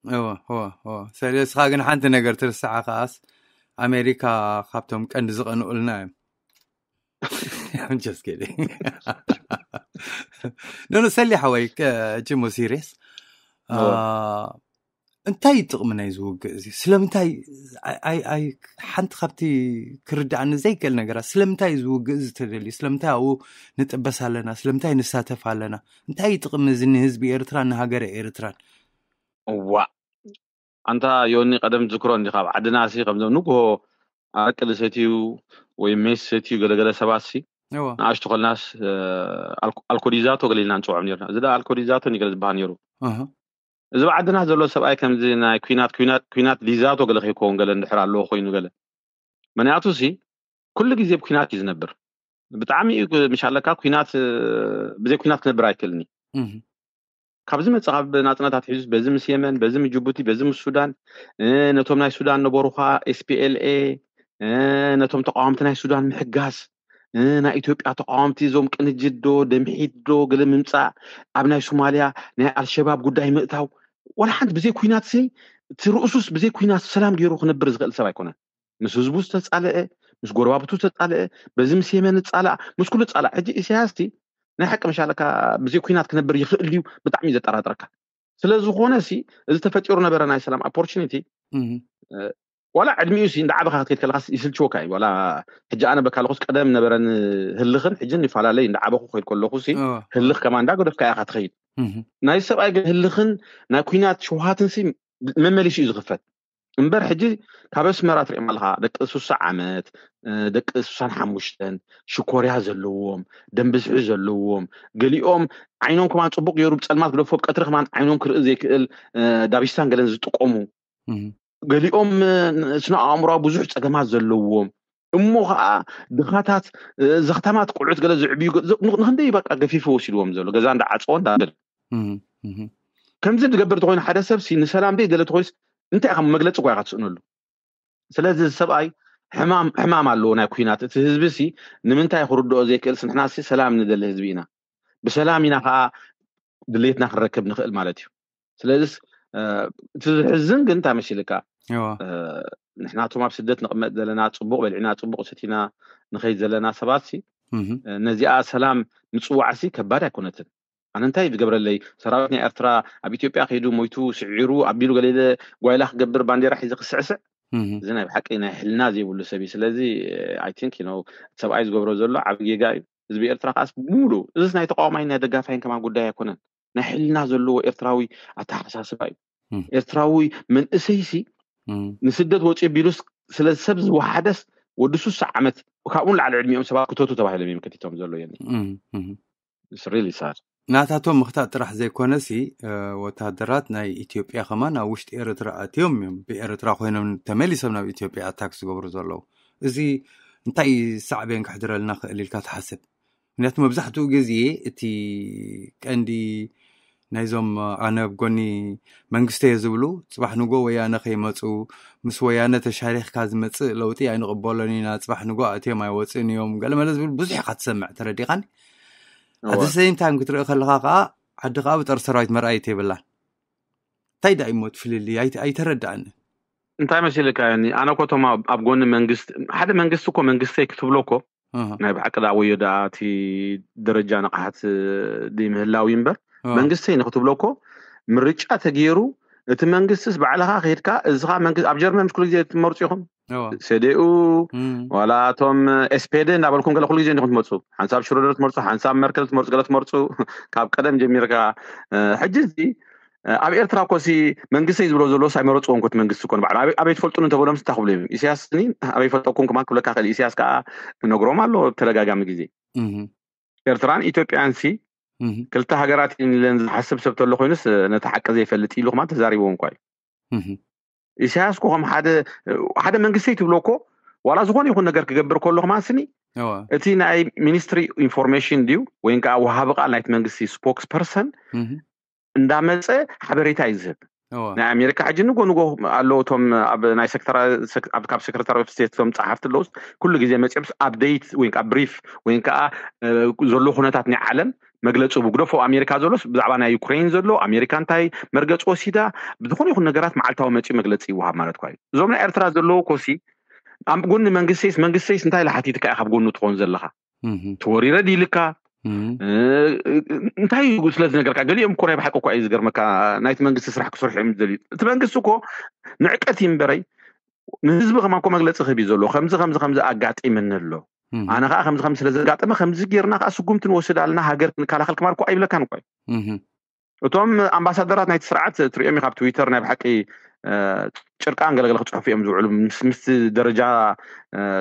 ሰለ እስኻ ግን ሓንቲ ነገር ትርስዓ ከዓስ ኣሜሪካ ካብቶም ቀንዲ ዝቐንኡልና እዮም። ኖ ሰሊ ሓወይ ጅሞ ሲሪየስ እንታይ እዩ ጥቕሚ ናይ ዝውግእ እዚ ስለምንታይ ሓንቲ ካብቲ ክርዳእኒ ዘይክእል ነገራት ስለምንታይ እዩ ዝውግእ እዚ ተደልዩ ስለምንታይ ኣብኡ ንጥበስ ኣለና ስለምንታይ ንሳተፍ ኣለና እንታይ እዩ ጥቕሚ እዚ ንህዝቢ ኤርትራን ንሃገረ ኤርትራን? እዋ ኣንታ ዮኒ ቀደም ዝክሮ እንዲኻ ኣብ ዓድና ሲ ከምዞም ንግሆ ኣረቂ ዝሰትዩ ወይ ሜስ ዝሰትዩ ገለገለ ሰባት ሲ ንኣሽቱ ከልናስ ኣልኮዲዛቶ ገለ ኢልና ንፅውዖም ነርና። እዚ ኣልኮዲዛቶ ገለ ዝበሃል ነይሩ። እዚ ብዓድና ዘሎ ሰብኣይ ከምዚ ናይ ኩናት ኩናት ኩናት ሊዛቶ ገለ ከይከውን ገለ እንድሕር ኣለዎ ኮይኑ ገለ ምክንያቱ ሲ ኩሉ ግዜ ብኩናት እዩ ዝነብር። ብጣዕሚ እዩ ምሻለካ ኩናት ብዘይ ኩናት ክነብር ኣይክእልኒ። ካብዚ መፅእ ካብ ናፅነታት ሒዙ በዚ ምስ የመን በዚ ምስ ጅቡቲ በዚ ምስ ሱዳን ነቶም ናይ ሱዳን ነበሩ ኳ ኤስፒኤልኤ ነቶም ተቃወምቲ ናይ ሱዳን ምሕጋዝ ናይ ኢትዮጵያ ተቃወምቲ እዞም ቅንጅት ዶ ደምሒት ዶ ገለ ምምፃእ ኣብ ናይ ሶማልያ ናይ ኣልሸባብ ጉዳይ ምእታው ዋላ ሓንቲ ብዘይ ኩናት ሲ እቲ ርእሱስ ብዘይ ኩናት ሰላም ገይሩ ክነብር ዝኽእል ሰብ ኣይኮነን። ምስ ህዝቡ ዝተፃለአ ምስ ጎረባብቱ ዝተፃለአ በዚ ምስ የመን ዝፃላእ ምስ ኩሉ ዝፃላእ ሕጂ ኢሳያስ ቲ ናይ ሓቂ መሻለካ ብዘይ ኩናት ክነብር ይኽእል ድዩ ብጣዕሚ እዩ ዘጠራጥረካ። ስለዝኾነ ሲ እዚ ተፈጢሩ ነበረ ናይ ሰላም ኦፖርቹኒቲ ዋላ ዕድሚኡ ሲ እንዳዓበኻ ክትከይድ ከለካ ይስልችወካ እዩ። ዋላ ሕጂ ኣነ በካ ኣለኹስ ቀደም ነበረኒ ህልኽን ሕጂ ይፈላለይ እንዳዓበኹ ከይድ ከለኹ ሲ ህልኽ ከማ እንዳገደፍካ ኢኻ ትኸይድ። ናይ ሰብኣይ ግን ህልኽን ናይ ኩናት ሽውሃትን ሲ መመሊሱ እዩ ዝኽፈት። እምበር ሕጂ ካብ ኣስመራ ትሪኦም ኣለካ ደቂ ሱሳ ዓመት ደቂ ሱሳን ሓሙሽተን ሽኮርያ ዘለዎም ደንብዝሒ ዘለዎም ገሊኦም ዓይኖም ከማን ፅቡቅ ገይሩ ብፀልማት ግደፎ ብቀትሪ ከማን ዓይኖም ክርኢ ዘይክእል ዳቢስታን ገለን ዝጥቀሙ ገሊኦም ስነ ኣእምሮዊ ብዙሕ ፀገማት ዘለዎም እሞ ከዓ ድኻታት ዘኽታማት ቁልዑት ገለ ዝዕብዩ ንክንደይ በቃ ገፊፉ ወሲድዎም ዘሎ ገዛ እንዳዓፀዎ እንዳበል ከምዚ ዝገብር ተኮይኑ ሓደ ሰብ ንሰላም ደይ ገለ ተኮይኑስ እንታይ ኢኻ መግለፂ እኳ ኢኻ ትስእነሉ። ስለዚ እዚ ሰብኣይ ሕማም ኣለዎ ናይ ኩናት እቲ ህዝቢ ሲ ንምንታይ ክርድኦ ዘይክእል ንሕና ሲ ሰላም ንደሊ ህዝቢ ኢና ብሰላም ኢና ከዓ ድሌትና ክንረክብ ንኽእል ማለት እዩ። ስለዚስ እቲ ዝሕዝን ግን እንታይ መሲልካ ንሕናቶም ኣብ ስደት ንቕመጥ ዘለና ፅቡቅ በልዕና ፅቡቅ ሰቲና ንኸይድ ዘለና ሰባት ሲ ነዚኣ ሰላም ምፅዋዕ ሲ ከባድ ኣይኮነትን። ኣነ እንታይ ዝገብረለይ ሰራዊት ናይ ኤርትራ ኣብ ኢትዮጵያ ከይዱ ሞይቱ ስዒሩ ኣቢሉ ገለ ጓይላ ክገብር ባንዴራ ሒዘ ክስዕስዕ እዚ ናይ ብሓቂ ናይ ሕልና ዘይብሉ ሰብ እዩ። ስለዚ ኣይ ቲንክ ሰብኣይ ዝገብሮ ዘሎ ዓብ ጌጋ እዩ። ህዝቢ ኤርትራ ከዓስ ብሙሉ እዚስ ናይ ተቃዋማይን ናይ ደጋፋይን ከማን ጉዳይ ኣይኮነን። ናይ ሕልና ዘለዎ ኤርትራዊ ኣተሓሳስባ እዩ። ኤርትራዊ መንእሰይሲ ንስደት ወፂ ቢሉስ ስለ ሰብ ዝወሓደስ ወዲ ሱሳ ዓመት ካብኡ ንላዕሊ ዕድሚኦም ሰባት ክተቱ ተባሂሎም እዮም ከቲቶም ዘሎ የኒ really sad። ናታቶም ምኽታእ ጥራሕ ዘይኮነሲ ወታደራት ናይ ኢትዮጵያ ከማን ኣብ ውሽጢ ኤርትራ ኣትዮም እዮም ብኤርትራ ኮይኖም ተመሊሶም ናብ ኢትዮጵያ ኣታክ ዝገብሩ ዘለዉ። እዚ እንታይ ሳዕቤን ክሕድረልና ክእል ኢልካ ትሓስብ? ምክንያቱ መብዛሕትኡ ግዜ እቲ ቀንዲ ናይዞም ኣነ ኣብ ጎኒ መንግስቲ እየ ዝብሉ ፅባሕ ንጎ ወያነ ከይመፁ ምስ ወያነ ተሻሪክካ ዝመፅእ ለውጢ ኣይንቕበሎን ኢና፣ ፅባሕ ንጎ ኣትዮም ኣይወፅእን እዮም ገለመለ ዝብል ብዙሕ ኢካ ትሰምዕ። ተረዲኻኒ? ኣቲ ሰይም ታይም ክትርኢ ከለካ ከዓ ዓዲ ከዓ ብጦር ሰራዊት መርኣየት የብላን። እንታይ ዳ እሞ እቲ ፍልልይ ኣይተረዳእኒ። እንታይ መሲልካ ኒ ኣነ ኮቶም ኣብ ጎኒ መንግስቲ ሓደ መንግስቲ እኮ መንግስተይ ክትብሎ እኮ ናይ ብሓቂ ዳ ወዮ ዳ እቲ ደረጃ ንቕሓት ምህላው እዩ እምበር መንግስተይ ንክትብሎ እኮ ምርጫ ተገይሩ እቲ መንግስትስ ባዕልኻ ከድካ እዚኻ መንግስቲ ኣብ ጀርመን ምስ ኩሉ ግዜ ትመርፁ ኢኹም ሰዴኡ ዋላ እቶም ኤስፔደ እናበልኩም ገለ ኩሉ ግዜ እንዲኹም ትመፁ። ሓንሳብ ሽሮደር ትመርፁ፣ ሓንሳብ መርከል ትመርፁ፣ ገለ ትመርፁ። ካብ ቀደም ጀሚርካ ሕጂ እዚ ኣብ ኤርትራ ኮሲ መንግስተይ ዝብሎ ዘሎ ሳይመረፅዎ እንኮት መንግስቲ ኮን ባዕሉ ኣበይ ትፈልጡን እንተበሎም ስታ ክብሉ እዮም። ኢሳያስ ኒ ኣበይ ፈልጠኩም ክማን ክብለካ ክእል። ኢሳያስ ከዓ ነግሮም ኣሎ ተደጋጋሚ ግዜ። ኤርትራን ኢትዮጵያን ሲ ክልተ ሃገራት ኢለን ዝሓስብ ሰብ ተሎ ኮይኑስ ነቲ ሓቂ ዘይፈልጥ ኢሉ ክማን ተዛሪብዎ እንኳ እዩ። ኢሳያስ ኮ ከም ሓደ ሓደ መንግስተይ ትብሎ እኮ ዋላ ዝኾነ ይኹን ነገር ክገብር ከሎ ክማን ስኒ እቲ ናይ ሚኒስትሪ ኢንፎርሜሽን ድዩ ወይ ከዓ ወሃቢ ቃል ናይቲ መንግስቲ ስፖክስ ፐርሰን እንዳመፀ ሓበሬታ እዩ ዝህብ። ናይ ኣሜሪካ ሕጂ ንጎ ንጎ ኣለዉ እቶም ኣብ ናይ ሴክተራ- ሴክ- ኣብ- ካብ ሴክረታሪ ኦፍ ስቴት እቶም ፀሓፍቲ ኣለውስ ኩሉ ግዜ መፂኦምስ ኣፕደይት ወይ ከዓ ብሪፍ ወይ ከዓ ዘሎ ኩነታት ናይ ዓለም መግለፂ ብግደፎ ኣሜሪካ ዘሎስ ብዛዕባ ናይ ዩክሬን ዘሎ ኣሜሪካ እንታይ መርገፂ ወሲዳ ብዝኾነ ይኹን ነገራት መዓልታዊ መፂኡ መግለፂ ይወሃብ ማለት ኳ እዩ። እዞም ናይ ኤርትራ ዘለዉ ኮሲ ኣብ ጎኒ መንግስተይስ መንግስተይስ እንታይ ኢላ ሓቲትካ ኢኻ ኣብ ጎኑ ትኾን ዘለኻ? ተወሪረ ድይልካ እንታይ እዩ ስለ ዝነገርካ? ገሊኦም እኮ ናይ ብሓቂ እኳ እዩ ዝገርመካ። ናይቲ መንግስቲ ስራሕ ክሰርሑ እዮም ዝደልዩ። እቲ መንግስቲ እኮ ንዕቀት እዩ እምበረይ ንህዝቢ ከማን እኮ መግለፂ ክህብ እዩ ዘሎ። ከምዚ ከምዚ ከምዚ ኣጋጢምኒ ኣሎ፣ ኣነ ከዓ ከምዚ ከምዚ ስለ ዘጋጠመ ከምዚ ጌርና ከዓ ስጉምቲ ንወስድ ኣለና፣ ሃገር ክንከላኸል ክማን እኮ ኣይብለካን እኮ እዩ። እቶም ኣምባሳደራት ናይቲ ስርዓት ትሪኦም ኢኻ ኣብ ትዊተር ናይ ብሓቂ ጭርቃን ገለገለ ክፅሕፉ እዮም ዝውዕሉ። ምስቲ ደረጃ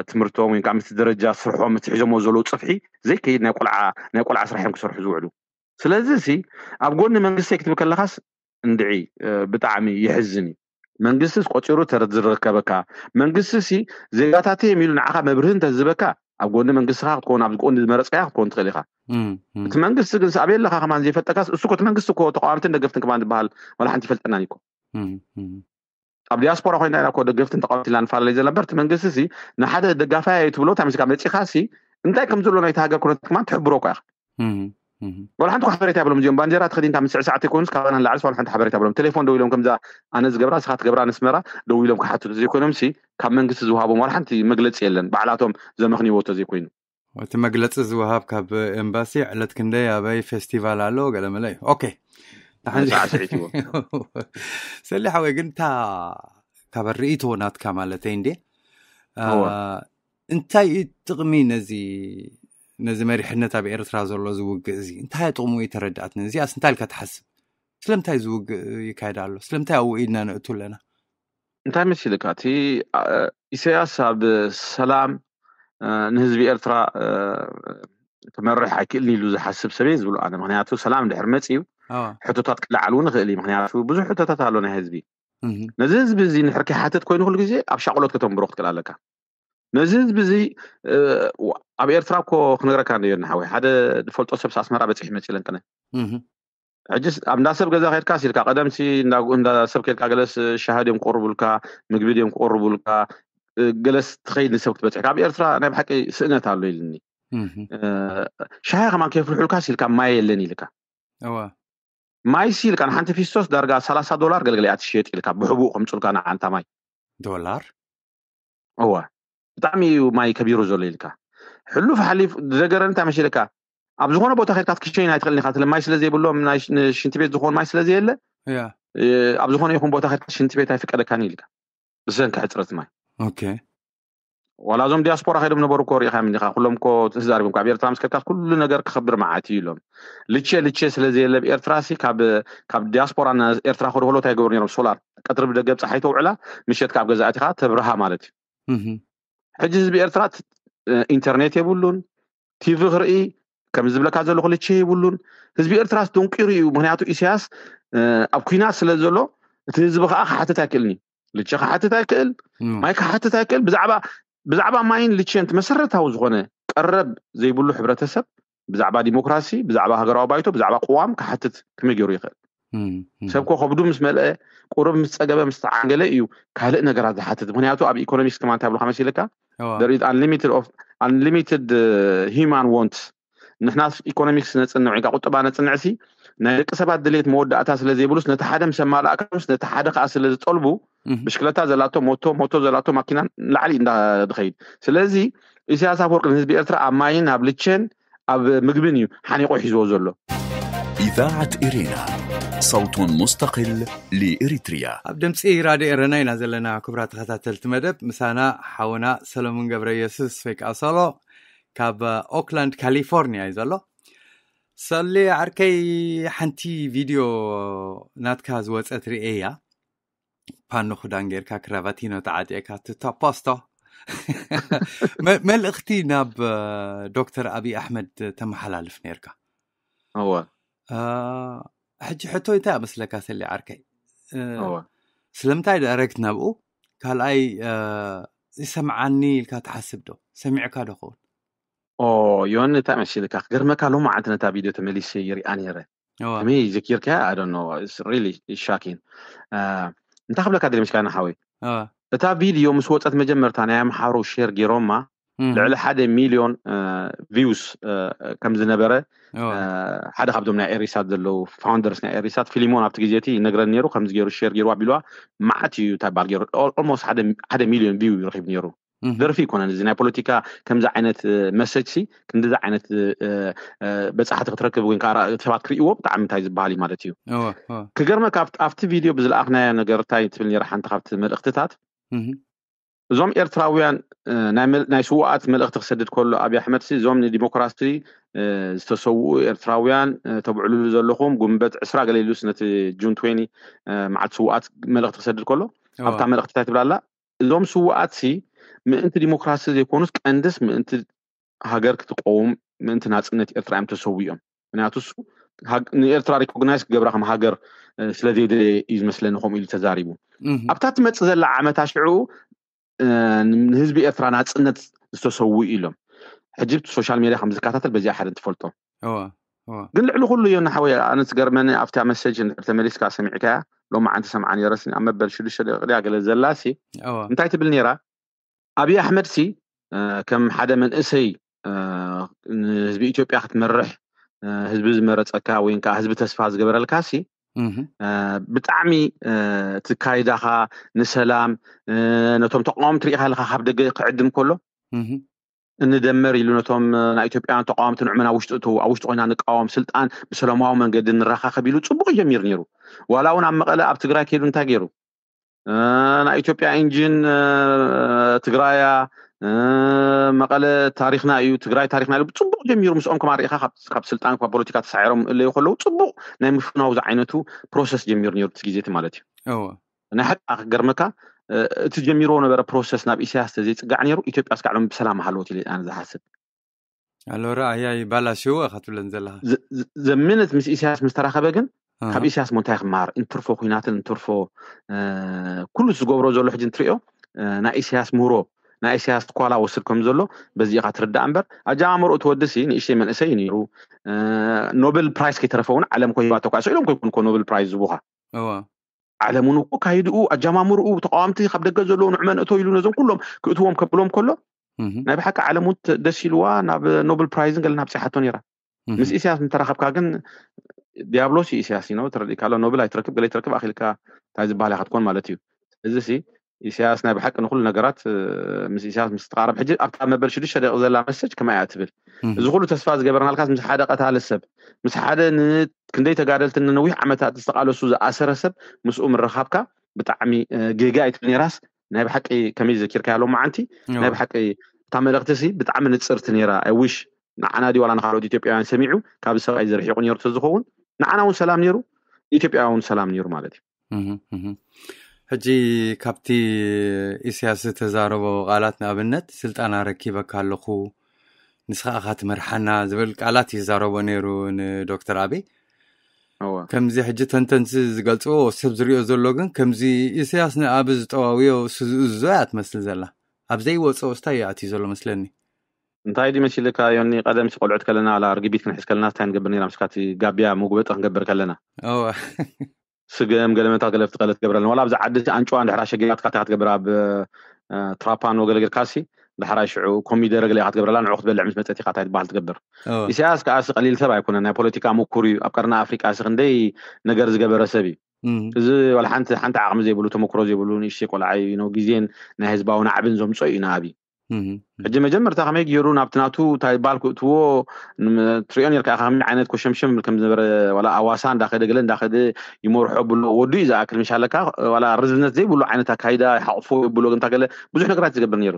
ትምህርቶም ወይ ከዓ ምስቲ ደረጃ ስርሖም ምስቲ ሒዞሞ ዘለዉ ፅፍሒ ዘይከይድ ናይ ቆልዓ ናይ ቆልዓ ስራሕ እዮም ክሰርሑ ዝውዕሉ። ስለዚ ሲ ኣብ ጎኒ መንግስተይ ክትብል ከለኻስ እንድዒ ብጣዕሚ የሕዝን እዩ። መንግስትስ ቆፂሩ ተዝረከበካ መንግስቲ ሲ ዜጋታት እዮም ኢሉ ንዓኻ መብርህ እንተዝበካ ኣብ ጎኒ መንግስትኻ ክትከውን ኣብዚ ጎኒ ዝመረፅካያ ክትከውን ትኽእል ኢኻ። እቲ መንግስቲ ግን ኣበይ ኣለኻ ከማን ዘይፈልጠካስ እሱ ኮ እቲ መንግስቲ እኮ ተቃዋምትን ደገፍትን ከማን ዝበሃል ዋላ ሓንቲ ይፈልጠናን እኮ። ኣብ ዲያስፖራ ኮይና ኢና እኮ ደገፍትን ተቃወምቲ ኢልና ንፈላለ ዘለና እምበር እቲ መንግስቲ ሲ ንሓደ ደጋፋይ እዩ ትብሎ እንታይ መስካ መፂኻ ሲ እንታይ ከም ዘሎ ናይቲ ሃገር ኩነታት ከማን ትሕብሮ እኮ ኢኻ። ወላ ሓንቲ ሓበሬታ የብሎም እዚኦም። ባንዴራ ተኸዲንካ ምስዕሳዕ ተይኮኑስ ካባና ንላዕልስ ዋላ ሓንቲ ሓበሬታ የብሎም። ቴሌፎን ደው ኢሎም ከምዛ ኣነ ዝገብራ ንስኻ ትገብራ ንስመራ ደው ኢሎም ክሓትቱ ዘይኮይኖም ሲ ካብ መንግስቲ ዝወሃቦም ዋላ ሓንቲ መግለፂ የለን። ባዕላቶም ዘመኽንይዎ ተዘይኮይኑ እቲ መግለፂ ዝወሃብ ካብ ኤምባሲ ዕለት ክንደይ ኣበይ ፌስቲቫል ኣሎ ገለመለ እዩ። ኦኬ ሰሊ ሓወይ ግን እታ ካብ ርእይቶ ናትካ ማለተይ እንዴ እንታይ እዩ ጥቕሚ ነዚ ነዚ መሪሕነት ኣብ ኤርትራ ዘሎ ዝውግእ እዚ እንታይ ጥቕሙ እዩ ተረዳእትኒ። እዚኣስ እንታይ ኢልካ ትሓስብ? ስለምንታይ ዝውግእ ይካየድ ኣሎ? ስለምንታይ ኣብኡ ኢድና ንእቱ ኣለና? እንታይ መሲልካ እቲ ኢሳያስ ኣብ ሰላም ንህዝቢ ኤርትራ ክመርሕ ኣይክእልን ኢሉ ዝሓስብ ሰብ ዝብሉ ኣነ። ምክንያቱ ሰላም ድሕር መፅ እዩ ሕቶታት ክለዓል እውን ይኽእል እዩ። ምክንያቱ ብዙሕ ሕቶታት ኣሎ ናይ ህዝቢ። ነዚ ህዝቢ እዚ ንሕር ከይሓትት ኮይኑ ኩሉ ግዜ ኣብ ሻቕሎት ከተንብሮ ክትክእል ኣለካ። ነዚ ህዝቢ እዚ ኣብ ኤርትራ እኮ ክነግረካ እንደ ዮና ሓወይ ሓደ ዝፈልጦ ሰብ ኣስመራ በፂሕ መፂ ለንቅነ ሕጂ ኣብ እንዳ ሰብ ገዛ ከድካ ሲልካ ቀደምሲ እንዳ ሰብ ከድካ ገለስ ሻሃ ድዮም ክቕርቡልካ ምግቢ ድዮም ክቕርቡልካ ገለስ ትኸይድ ንሰብ ክትበፅሕ ካብ ኤርትራ ናይ ብሓቂ ስእነት ኣሎ ኢልኒ። ሻሂ ከማን ከየፍልሑልካ ሲልካ ማይ የለን ኢልካ። ማይ ሲ ኢልካ ንሓንቲ ፊስቶስ ዳርጋ ሰላሳ ዶላር ገልገለ እያ ትሽየጥ ኢልካ ብሕቡእ ከምፁልካ ንዓንታ ማይ ዶላር እወ ብጣዕሚ እዩ ማይ ከቢሩ ዘሎ ኢልካ። ሕሉፍ ሓሊፍ ዝደገረን እንታይ መሲልካ ኣብ ዝኾነ ቦታ ከድካ ክትሸይን ኣይትኽእልን ኢኻ። ትለ ማይ ስለ ዘይብሎም ናይ ሽ- ንሽንቲ ቤት ዝኾን ማይ ስለ ዘየለ ያ እ፣ ኣብ ዝኾነ ይኹን ቦታ ከድካ ሽንቲ ቤት ኣይፍቀደካን ኢልካ ብሰንኪ ሕፅረት ማይ። ኦኬ ዋላ እዞም ዲያስፖራ ከይዶም ነበሩ እኮ ሪኢኻ ምን ኢኻ ኩሎም እኮ ተዛሪቦም ካብ ኤርትራ ምስ ከድካ ኩሉ ነገር ክኸብር መዓት እዩ ኢሎም። ልቼ ልቼ ስለ ዘየለ ኣብ ኤርትራ ሲ ካብ ካብ ዲያስፖራ ና ኤርትራ ከድሆሎ እንታይ ይገብሩ ነይሮም ሶላር ቀትሪ ብደገብ ፀሓይ ተውዕላ ምሸት ካብ ገዛእቲኻ ተብርሃ ማለት እዩ። ሕጂ ህዝቢ ኤርትራ ኢንተርኔት የብሉን፣ ቲቪ ክርኢ ከም ዝብለካ ዘለኹ ልቼ የብሉን። ህዝቢ ኤርትራስ ደንቂሩ እዩ። ምክንያቱ ኢሳያስ ኣብ ኩናት ስለ ዘሎ እቲ ህዝቢ ከዓ ክሓትት ኣይክእልን እዩ። ልቼ ክሓትት ኣይክእል፣ ማይ ክሓትት ኣይክእል። ብዛዕባ ብዛዕባ ማይን ልቼን እቲ መሰረታዊ ዝኾነ ቀረብ ዘይብሉ ሕብረተሰብ ብዛዕባ ዲሞክራሲ፣ ብዛዕባ ሃገራዊ ባይቶ፣ ብዛዕባ ቅዋም ክሓትት ከመይ ገይሩ ይኽእል? ሰብ ኮ ከብዱ ምስ መልአ ቁሩብ ምስ ፀገበ ምስ ተዓንገለ እዩ ካልእ ነገራት ዝሓትት። ምክንያቱ ኣብ ኢኮኖሚክስ ከማ እንታይ ብልካ መሲልካ there is unlimited of unlimited human wants። ንሕና ኢኮኖሚክስ ነፅንዕ ወይ ቁጠባ ነፅንዕ ሲ ናይ ደቂ ሰባት ድሌት መወዳእታ ስለ ዘይብሉስ ነቲ ሓደ ምስ ኣማላእካሉስ ነቲ ሓደ ከዓ ስለ ዝጠልቡ ብሽክለታ ዘላቶ ሞቶ ሞቶ ዘላቶ ማኪና ንላዕሊ እንዳድኸይድ። ስለዚ ኢሳያስ ኣፈወርቂ ንህዝቢ ኤርትራ ኣብ ማይን ኣብ ልቼን ኣብ ምግብን እዩ ሓኒቆ ሒዝዎ ዘሎ። إذاعة إرينا صوت مستقل لإريتريا. ኣብ ድምፂ ራድዮ ኤረና ኢና ዘለና። ክቡራት ተኸታተልቲ መደብ፣ ምሳና ሓውና ሰሎሙን ገብረ ኢየሱስ ወይ ከዓ ሶሎ ካብ ኦክላንድ ካሊፎርኒያ እዩ ዘሎ። ሰሌ ዓርከይ፣ ሓንቲ ቪድዮ ናትካ ዝወፀት ርእየ እያ። ፓኖ ክዳን ጌርካ፣ ክራቫቲኖ ተዓጢቕካ፣ ትታ ፖስቶ መ- መልእኽቲ ናብ ዶክተር ኣብይ ኣሕመድ ተመሓላልፍ ነርካ። እወ። ሕጂ ሕቶይ እንታይ ኣመስለካ ሰሌ ዓርከይ? ስለምንታይ ዳይሬክት ናብኡ? ካልኣይ፣ ይሰምዓኒ ኢልካ ትሓስብ ዶ? ሰሚዕካ ዶ ኸውን? ዮኒ፣ እንታይ መሲልካ? ክገርመካ፣ ሎሚ ዓንቲ ነታ ቪድዮ ተመሊሰ ይሪኣ ነይረ። ከመይ ዘኪርካ? ኣዶኖ ሪሊ ሻኪን። እንታይ ክብለካ ደሊ ምስጋና ሓወይ፣ እታ ቪድዮ ምስ ወፀት መጀመርታ ናይ ኣምሓሩ ሼር ገይሮማ፣ ልዕሊ ሓደ ሚልዮን ቪውስ ከም ዝነበረ፣ ሓደ ካብዞም ናይ ኤሪሳት ዘለዉ ፋውንደርስ ናይ ኤሪሳት፣ ፊሊሞን ኣብቲ ግዜ እቲ ይነግረን ነይሩ። ከምዚ ገይሩ ሼር ገይሩ ኣቢልዋ፣ መዓት እዩ ታባል ገይሩ። ኦልሞስት ሓደ ሚልዮን ቪው ይረኪብ ነይሩ። ደርፊ ይኮነን እዚ ናይ ፖለቲካ። ከምዚ ዓይነት መሰጅ ሲ ክንዲዚ ዓይነት በፃሕቲ ክትረክብ ወይ ከዓ ሰባት ክርእይዎ ብጣዕሚ እንታይ ዝበሃል እዩ ማለት እዩ። ክገርመካ ኣብቲ ቪድዮ ብዝለኣኽናዮ ነገር እንታይ ትብል ነይራ ሓንቲ ካብቲ መልእክትታት፣ እዞም ኤርትራውያን ናይ ስዋኣት መልእክቲ ክሰድድ ከሎ ኣብይ ኣሕመድ ሲ፣ እዞም ንዲሞክራሲ ዝተሰውኡ ኤርትራውያን ተብዕሉሉ ዘለኹም ጉንበት ዕስራ ገለ ኢሉስ ነቲ ጁን ትዌንቲ መዓልቲ ስዋኣት መልእክቲ ክሰድድ ከሎ፣ ኣብታ መልእክቲ እንታይ ትብላላ? እዞም ስዋኣት ሲ ምእንቲ ዲሞክራሲ ዘይኮኑስ ቀንድስ ምእንቲ ሃገር ክትቀውም፣ ምእንቲ ናፅነት ኤርትራ እዮም ተሰዊኦም። ምክንያቱ እሱ ንኤርትራ ሪኮግናይዝ ክገብራ ከም ሃገር ስለ ዘይደለየ እዩ ዝመስለኒ ከምኡ ኢሉ ተዛሪቡ። ኣብታ ትመፅእ ዘላ ዓመታ ሽዑ ንህዝቢ ኤርትራ ናፅነት ዝተሰው ኢሎም ሕጂ ሶሻል ሜድያ ከም ዝከታተል በዚኣ ሓደ ትፈልጦ። ግን ልዕሊ ኩሉ እዮ ንሓወይ ኣነ ዝገርመኒ ኣብታ መሰጅ እንድሕር ተመሊስካ ሰሚዕካያ፣ ሎሚ ዓንቲ ሰምዓ ነይረስ ኣብ መበል ሽዱሽተ ደቂቕ ድያ ገለ ዘላሲ እንታይ ትብል ነይራ? ኣብይ ኣሕመድ ሲ ከም ሓደ መንእሰይ ንህዝቢ ኢትዮጵያ ክትመርሕ ህዝቢ ዝመረፀካ ወይ ከዓ ህዝቢ ተስፋ ዝገበረልካ ሲ ብጣዕሚ እቲ ካይዳኻ ንሰላም ነቶም ተቃወምቲ ርኢኻ ኣለካ ካብ ደገ ክዕድም ከሎ እንደመር ኢሉ ነቶም ናይ ኢትዮጵያውያን ተቃወምቲ ንዕመና ውሽጢ እተዉ ኣብ ውሽጢ ኮይና ንቃወም ስልጣን ብሰላማዊ መንገዲ ንረኻኸብ ኢሉ ፅቡቅ ጀሚሩ ነይሩ። ዋላ እውን ኣብ መቐለ ኣብ ትግራይ ከይዱ እንታይ ገይሩ? ናይ ኢትዮጵያ ኢንጂን ትግራያ መቐለ ታሪክና እዩ፣ ትግራይ ታሪክና ኢሉ ፅቡቅ ጀሚሩ። ምስኦም ከማ ርኢኻ ካብ ስልጣን ካብ ፖለቲካ ተሳዒሮም እለዩ ከለዉ ፅቡቅ ናይ ምፍናው ዝዓይነቱ ፕሮሰስ ጀሚሩ ነይሩ እቲ ግዜ እቲ ማለት እዩ። ናይ ሓቂ ክገርመካ እቲ ጀሚርዎ ነበረ ፕሮሰስ ናብ ኢሳያስ ተዘይፅጋዕ ነይሩ ኢትዮጵያ እስካዕ ሎም ብሰላም ሃለወት ኢለ ኣነ ዝሓስብ። ኣሎ ረኣያ ይባላሽዎ ኢኻ ትብለን ዘለኻ። ዘምነት ምስ ኢሳያስ ምስ ተራኸበ ግን ካብ ኢሳያስ ሞ እንታይ ክመሃር? እንትርፎ ኩናትን እንትርፎ ኩሉ ዝገብሮ ዘሎ ሕጂ እንትሪኦ ናይ ኢሳያስ ምህሮ ናይ ኢሳያስ ትኳላ ወስድ ከም ዘሎ በዚ ኢኻ ትርዳእ እምበር ኣጀማምርኡ ትወድሲ ንእሽተይ መንእሰይ ነይሩ። ኖበል ፕራይስ ከይተረፈ እውን ዓለም ኮ ሂባቶ ኳ ኢሎም ኮይኮን ኮ ኖበል ፕራይስ ዝቡኻ ዓለም እውን እኮ ካይድኡ ኣጀማምርኡ ተቃዋምቲ ካብ ደገ ዘለዉ ንዕመ ንእቶ ኢሉ ነዞም ኩሎም ክእትዎም ከብሎም ከሎ ናይ ብሓቂ ዓለም እውን ደስ ኢልዋ ናብ ኖብል ፕራይዝን ገለ ናብ ፅሓቶ ነይራ። ምስ ኢሳያስ ምተራኸብካ ግን ዲያብሎስ እዩ ኢሳያስ ነው ተረዲእካ ኣሎ። ኖብል ኣይትረክብ ገለ ኣይትረክብ ኣኺልካ እንታይ ዝበሃል ኢኻ ትኮን ማለት እዩ። እዚ ሲ ኢሳያስ ናይ ብሓቂ ንኩሉ ነገራት ምስ ኢሳያስ ምስ ተቃረብ ሕጂ ኣብታ መበል ሽዱሽተ ደቂ ዘላ መሰጅ ከማይ እያ ትብል። እዚ ኩሉ ተስፋ ዝገበርናልካስ ምስ ሓደ ቀታሊ ሰብ ምስ ሓደ ክንደይ ተጋደልቲ ንነዊሕ ዓመታት ዝተቃለሱ ዝኣሰረ ሰብ ምስኡ ምረኻብካ ብጣዕሚ ጌጋ ኣይትብል ነይራስ ናይ ብሓቂ ከመይ ዘኪርካያ ሎም መዓንቲ ናይ ብሓቂ እታ መልእክቲ ሲ ብጣዕሚ ንፅርቲ ነይራ። I wish ንዓና ድዩ ዋላ ንካልኦት ኢትዮጵያውያን ሰሚዑ ካብዚ ሰብኣይ ዝርሒቁ ነይሩ ተዝኸውን ንዓና እውን ሰላም ነይሩ ኢትዮጵያ እውን ሰላም ነይሩ ማለት እዩ። ሕጂ ካብቲ ኢሳያስ ዝተዛረቦ ቃላት ንኣብነት ስልጣን ኣረኪበካ ኣለኹ ንስኻ ኢኻ ትመርሓና ዝብል ቃላት ይዛረቦ ነይሩ ንዶክተር ኣበይ። ከምዚ ሕጂ ተንተንሲ ዝገልፅዎ ሰብ ዝሪኦ ዘሎ ግን ከምዚ ኢሳያስ ንኣብ ዝጠዋውዮ ስዝእዞ እያ ትመስል ዘላ። ኣብ ዘይወፅኦ ስታይ እዩ ኣትዩ ዘሎ መስለኒ። እንታይ ድዩ መሲልካ ዮኒ፣ ቀደም ሲ ቆልዑት ከለና ላ ርግቢት ክንሕዝ ከለና እንታይ ንገብር ነይራ ምስካቲ ጋቢያ መጉበጢ ክንገብር ከለና ስገም ገለመታት ገለ ትቀለ ትገብረለን ዋላ ኣብዚ ዓዲ ኣንጭዋ እንድሕራ ሸጊራትካ እንታይ ክትገብር ኣብ ትራፓኖ ገለ ጌርካሲ ዳሕራይ ሽዑ ኮሚደረ ገለ ኢኻ ትገብረላ ንዑ ክትበልዕ ምስ መፀት ኢኻ እንታይ ትበሃል ትገብር። ኢሳያስ ከዓሲ ቀሊል ሰብ ኣይኮነን፣ ናይ ፖለቲካ ምኩር እዩ። ኣብ ቀርኒ ኣፍሪቃ ሲ ክንደይ ነገር ዝገበረ ሰብ እዩ። እዚ ዋላ ሓንቲ ሓንቲ ዓቕሚ ዘይብሉ ተመክሮ ዘይብሉ ንእሽተይ ቆልዓ እዩ። ግዜን ናይ ህዝባዊ ናዕብን ዘምፀኦ እዩ ንኣብይ። ሕጂ መጀመርታ ከመይ ገይሩ ናብቲ ናቱ እንታይ ባል ክእትዎ ትሪኦ ነርካ ከመይ ዓይነት ኮሸምሸም ከም ዝነበረ፣ ዋላ ኣዋሳ እንዳኸደ ገለ እንዳኸደ ይመርሖ ብሎ ወዱ እዩ ዝኣክል ምሻለካ፣ ዋላ ርዝነት ዘይብሉ ዓይነት ኣካይዳ ይሓቕፎ ይብሎ እንታ ገለ ብዙሕ ነገራት ዝገብር ነይሩ።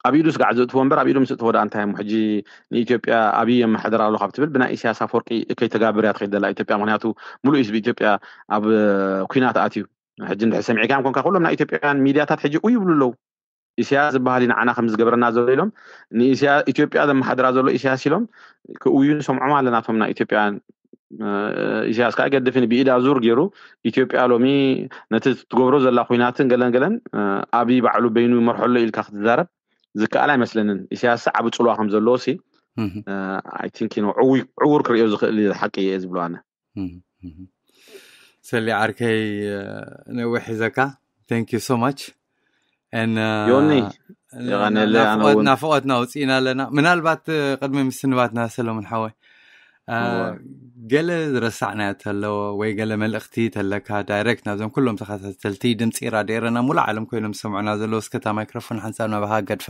ኣብ ኢዱ ስጋዕ ዘእትዎ እምበር ኣብ ኢዱ ምስ እትዎ ደኣ እንታይ እሞ ሕጂ ንኢትዮጵያ ኣብይ የመሓድር ኣሎ ካብ ትብል ብናይ ኢሳያስ ኣፈወርቂ ከይተጋብር እያ ትኸይድ ዘላ ኢትዮጵያ። ምክንያቱ ሙሉእ ህዝቢ ኢትዮጵያ ኣብ ኩናት ኣትዩ። ሕጂ እንድሕር ሰሚዕካዮም ኮንካ ኩሎም ናይ ኢትዮጵያውያን ሚድያታት ሕጂ ኡ ይብሉ ኣለዉ። ኢሳያስ ዝበሃል እዩ ንዓና ከም ዝገብረና ዘሎ ኢሎም ንኢሳያ ኢትዮጵያ ዘመሓድራ ዘሎ ኢሳያስ ኢሎም ክእውዩ ንሰምዖም ኣለና። እቶም ናይ ኢትዮጵያውያን ኢሳያስ ከዓ ገድፍን ብኢዳ ዙር ገይሩ ኢትዮጵያ ሎሚ ነቲ ትገብሮ ዘላ ኩናትን ገለን ገለን ኣብይ ባዕሉ በይኑ ይመርሖ ኣሎ ኢልካ ክትዛረብ ዝከኣል ኣይመስለንን። ኢሳያስ ዓቢ ጽልዋ ከም ዘለዎ ሲ ኣይ ቲንክ ዕውር ክርእዮ ዝኽእል ሓቂ እየ ዝብሎ ኣነ። ሰሊ ዓርከይ ነዊሕ ሒዘካ። Thank you so much። ዮኒ ናፍቆትና ውፅኢና ኣለና። ምናልባት ቅድሚ ምስንባትና ሰለሙን ሓወይ ገለ ዝረሳዕናዮ ተለዎ ወይ ገለ መልእኽቲ ተለካ ዳይሬክት ናብዞም ኩሎም ተኸታተልቲ ድምፂ ራድዮ ኤረና ሙሉእ ዓለም ኮይኖም ዝሰምዑና ዘለዉ እስከታ ማይክሮፎን ሓንሳብ ናባኻ ገድፋ።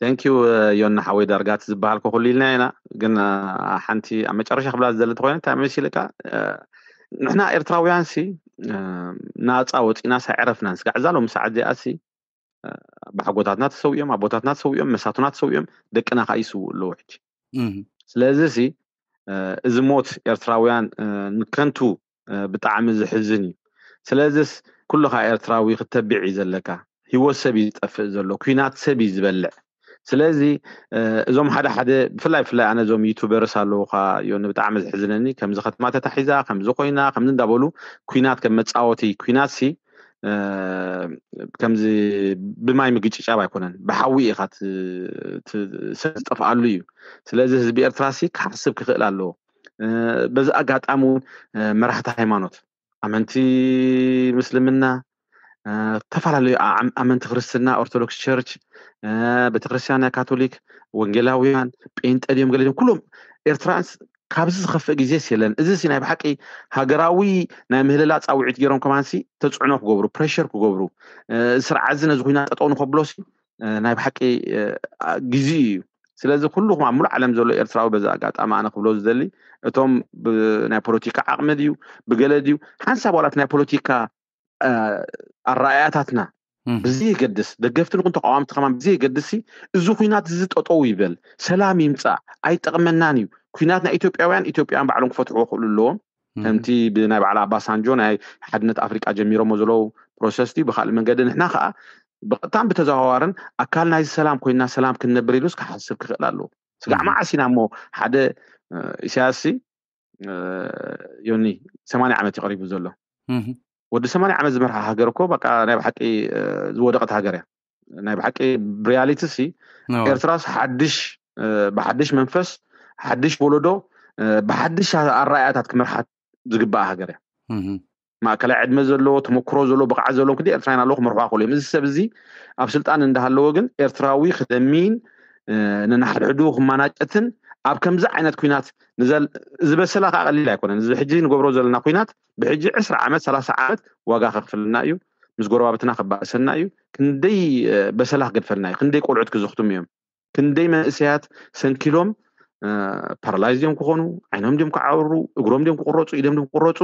Thank you ዮኒ ሓወይ ዳርጋት ዝበሃል ኩሉ ኢልና ኢና ግን ሓንቲ ኣብ መጨረሻ ክብላ ዝደለ ተኮይነ እንታይ መሲልካ ንሕና ኤርትራውያን ሲ ናፃ ወፂና ሳይዕረፍናን ስጋዕ እዛ ሎም ሰዓት እዚኣ ሲ ባሕጎታትና ተሰዊኦም ኣቦታትና ተሰዊኦም መሳቱና ተሰዊኦም ደቅና ከዓ ይስውኡ ኣለዉ ሕጂ ስለዚ ሲ እዚ ሞት ኤርትራውያን ንከንቱ ብጣዕሚ ዝሕዝን እዩ። ስለዚስ ኩልኻ ኤርትራዊ ክተብዕ እዩ ዘለካ። ህይወት ሰብ እዩ ዝጠፍእ ዘሎ፣ ኩናት ሰብ እዩ ዝበልዕ። ስለዚ እዞም ሓደ ሓደ ብፍላይ ብፍላይ ኣነ እዞም ዩቱበርስ ኣለዉ ካ ዮኒ ብጣዕሚ ዝሕዝነኒ ከምዚ ከተማ ተታሒዛ ከምዚ ኮይና ከምዚ እንዳበሉ ኩናት ከም መፃወቲ ኩናት ሲ ከምዚ ብማይ ምግጭጫብ ኣይኮነን ብሓዊ ኢኻ ሰብ ዝጠፍኣሉ እዩ። ስለዚ ህዝቢ ኤርትራ ሲ ክሓስብ ክኽእል ኣለዎ። በዚ ኣጋጣሚ እውን መራሕቲ ሃይማኖት ኣመንቲ ምስልምና ዝተፈላለዩ ኣመንቲ ክርስትና ኦርቶዶክስ ቸርች ቤተክርስትያን ናይ ካቶሊክ ወንጌላውያን ጴንጠ ድዮም ገለ ድዮም ኩሎም ኤርትራንስ ካብዚ ዝኸፍእ ግዜስ የለን። እዚ ሲ ናይ ብሓቂ ሃገራዊ ናይ ምህልላ ፃውዒት ገይሮም ከማንሲ ተፅዕኖ ክገብሩ ፕሬሸር ክገብሩ ስርዓት እዚ ነዚ ኩናት ጠጠው ንኸብሎሲ ናይ ብሓቂ ግዜ እዩ። ስለዚ ኩልኹም ኣብ ሙሉእ ዓለም ዘሎ ኤርትራዊ በዚ ኣጋጣሚ ኣነ ክብሎ ዝደሊ እቶም ናይ ፖለቲካ ዓቕሚ ድዩ ብገለ ድዩ ሓንሳብ ዋላት ናይ ፖለቲካ ኣረኣያታትና ብዘየገድስ ደገፍቲ ንኹን ተቃዋምቲ ከማን ብዘየገድስ እዚ ኩናት እዚ ጠጠው ይበል ሰላም ይምፃእ ኣይጠቕመናን እዩ። ኩናት ናይ ኢትዮጵያውያን ኢትዮጵያውያን ባዕሎም ክፈትሕዎ ክኽእሉ ኣለዎም። ከምቲ ብናይ ባዕላ ኣባሳንጆ ናይ ሓድነት ኣፍሪቃ ጀሚሮሞ ዘለዉ ፕሮሰስ ድዩ ብካልእ መንገዲ ንሕና ከዓ ብቀጥታን ብተዘዋዋርን ኣካል ናይዚ ሰላም ኮይና ሰላም ክንነብር ኢሉስ ክሓስብ ክኽእል ኣለዎ። ስጋዕ መዓስ ኢና እሞ ሓደ ኢሳያስ ዮኒ ሰማንያ ዓመት እዩ ቀሪቡ ዘሎ። ወዲ ሰማንያ ዓመት ዝመርሓ ሃገር እኮ በቃ ናይ ብሓቂ ዝወደቀት ሃገር እያ። ናይ ብሓቂ ብሪያሊቲ ሲ ኤርትራስ ሓድሽ ብሓድሽ መንፈስ ሓድሽ ወለዶ ብሓድሽ ኣረኣያታት ክመርሓት ዝግባእ ሃገር እያ። ማእከላይ ዕድመ ዘለዎ ተመክሮ ዘለዎ ብቕዓት ዘለዎም ክዲ ኤርትራውያን ኣለዉ ክመርሕዋ ክእሉ እዮም። እዚ ሰብ እዚ ኣብ ስልጣን እንዳሃለወ ግን ኤርትራዊ ክደሚን ነናሓድሕዱ ክማናጨትን ኣብ ከምዚ ዓይነት ኩናት ዝበሰላ ከዓ ቀሊል ኣይኮነን። እዚ ሕጂ ንገብሮ ዘለና ኩናት ብሕጂ ዕስራ ዓመት ሰላሳ ዓመት ዋጋ ከክፍልና እዩ። ምስ ጎረባብትና ከባእሰና እዩ። ክንደይ በሰላ ክገድፈልና እዩ። ክንደይ ቆልዑት ክዝኽቱም እዮም። ክንደይ መንእሰያት ሰንኪሎም ፓራላይዝ እዮም ክኾኑ፣ ዓይኖም ድም ክዓብሩ፣ እግሮም ድም ክቁረፁ፣ ኢዶም ድም ክቁረፁ፣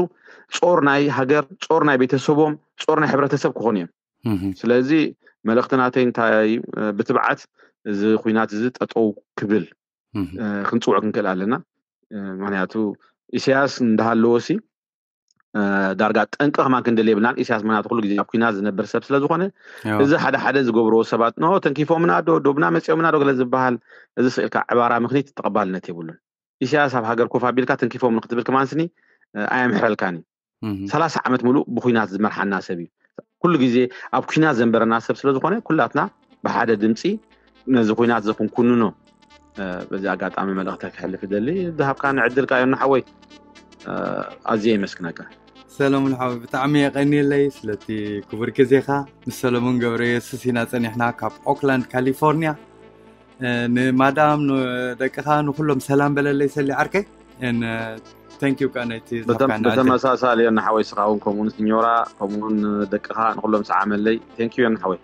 ፆር ናይ ሃገር፣ ፆር ናይ ቤተሰቦም፣ ፆር ናይ ሕብረተሰብ ክኾኑ እዮም። ስለዚ መልእኽቲ ናተይ እንታይ ብትብዓት እዚ ኩናት እዚ ጠጠው ክብል ክንፅውዕ ክንክእል ኣለና። ምክንያቱ ኢሳያስ እንዳሃለዎ ሲ ዳርጋ ጠንቂ ከማን ክንደል የብልናን። ኢሳያስ ምክንያቱ ኩሉ ግዜ ኣብ ኩናት ዝነብር ሰብ ስለዝኾነ እዚ ሓደ ሓደ ዝገብርዎ ሰባት ኖ ተንኪፎምና ዶ ዶብና መፂኦምና ዶ ገለ ዝበሃል እዚ ስኢልካ ዕባራ ምክኒት ተቐባልነት የብሉን። ኢሳያስ ኣብ ሃገር ኮፍ ኣቢልካ ተንኪፎም ንክትብል ከማን ስኒ ኣየምሕረልካን እዩ። ሰላሳ ዓመት ሙሉእ ብኩናት ዝመርሓና ሰብ እዩ። ኩሉ ግዜ ኣብ ኩናት ዘንበረና ሰብ ስለዝኾነ ኩላትና ብሓደ ድምፂ ነዚ ኩናት እዚ ክንኩንኖ በዚ ኣጋጣሚ መልእኽተ ክሕልፍ ደሊ ዝሃብካ ንዕድል ካ ዮና ሓወይ ኣዝየ የመስግነካ። ሰለሙን ሓወይ ብጣዕሚ የቀንየለይ ስለቲ ክቡር ግዜኻ። ምስ ሰለሙን ገብረ የሱስ ኢና ጸኒሕና ካብ ኦክላንድ ካሊፎርኒያ። ንማዳም ንደቅኻ ንኩሎም ሰላም በለለይ ሰሊ ዓርከይ። Thank you ካ ነቲ ብተመሳሳሊ ዮና ሓወይ ስኻ እውን ከምኡውን ሲኞራ ከምኡውን ደቅኻ ንኩሎም ሰዓመለይ። Thank you ዮና ሓወይ።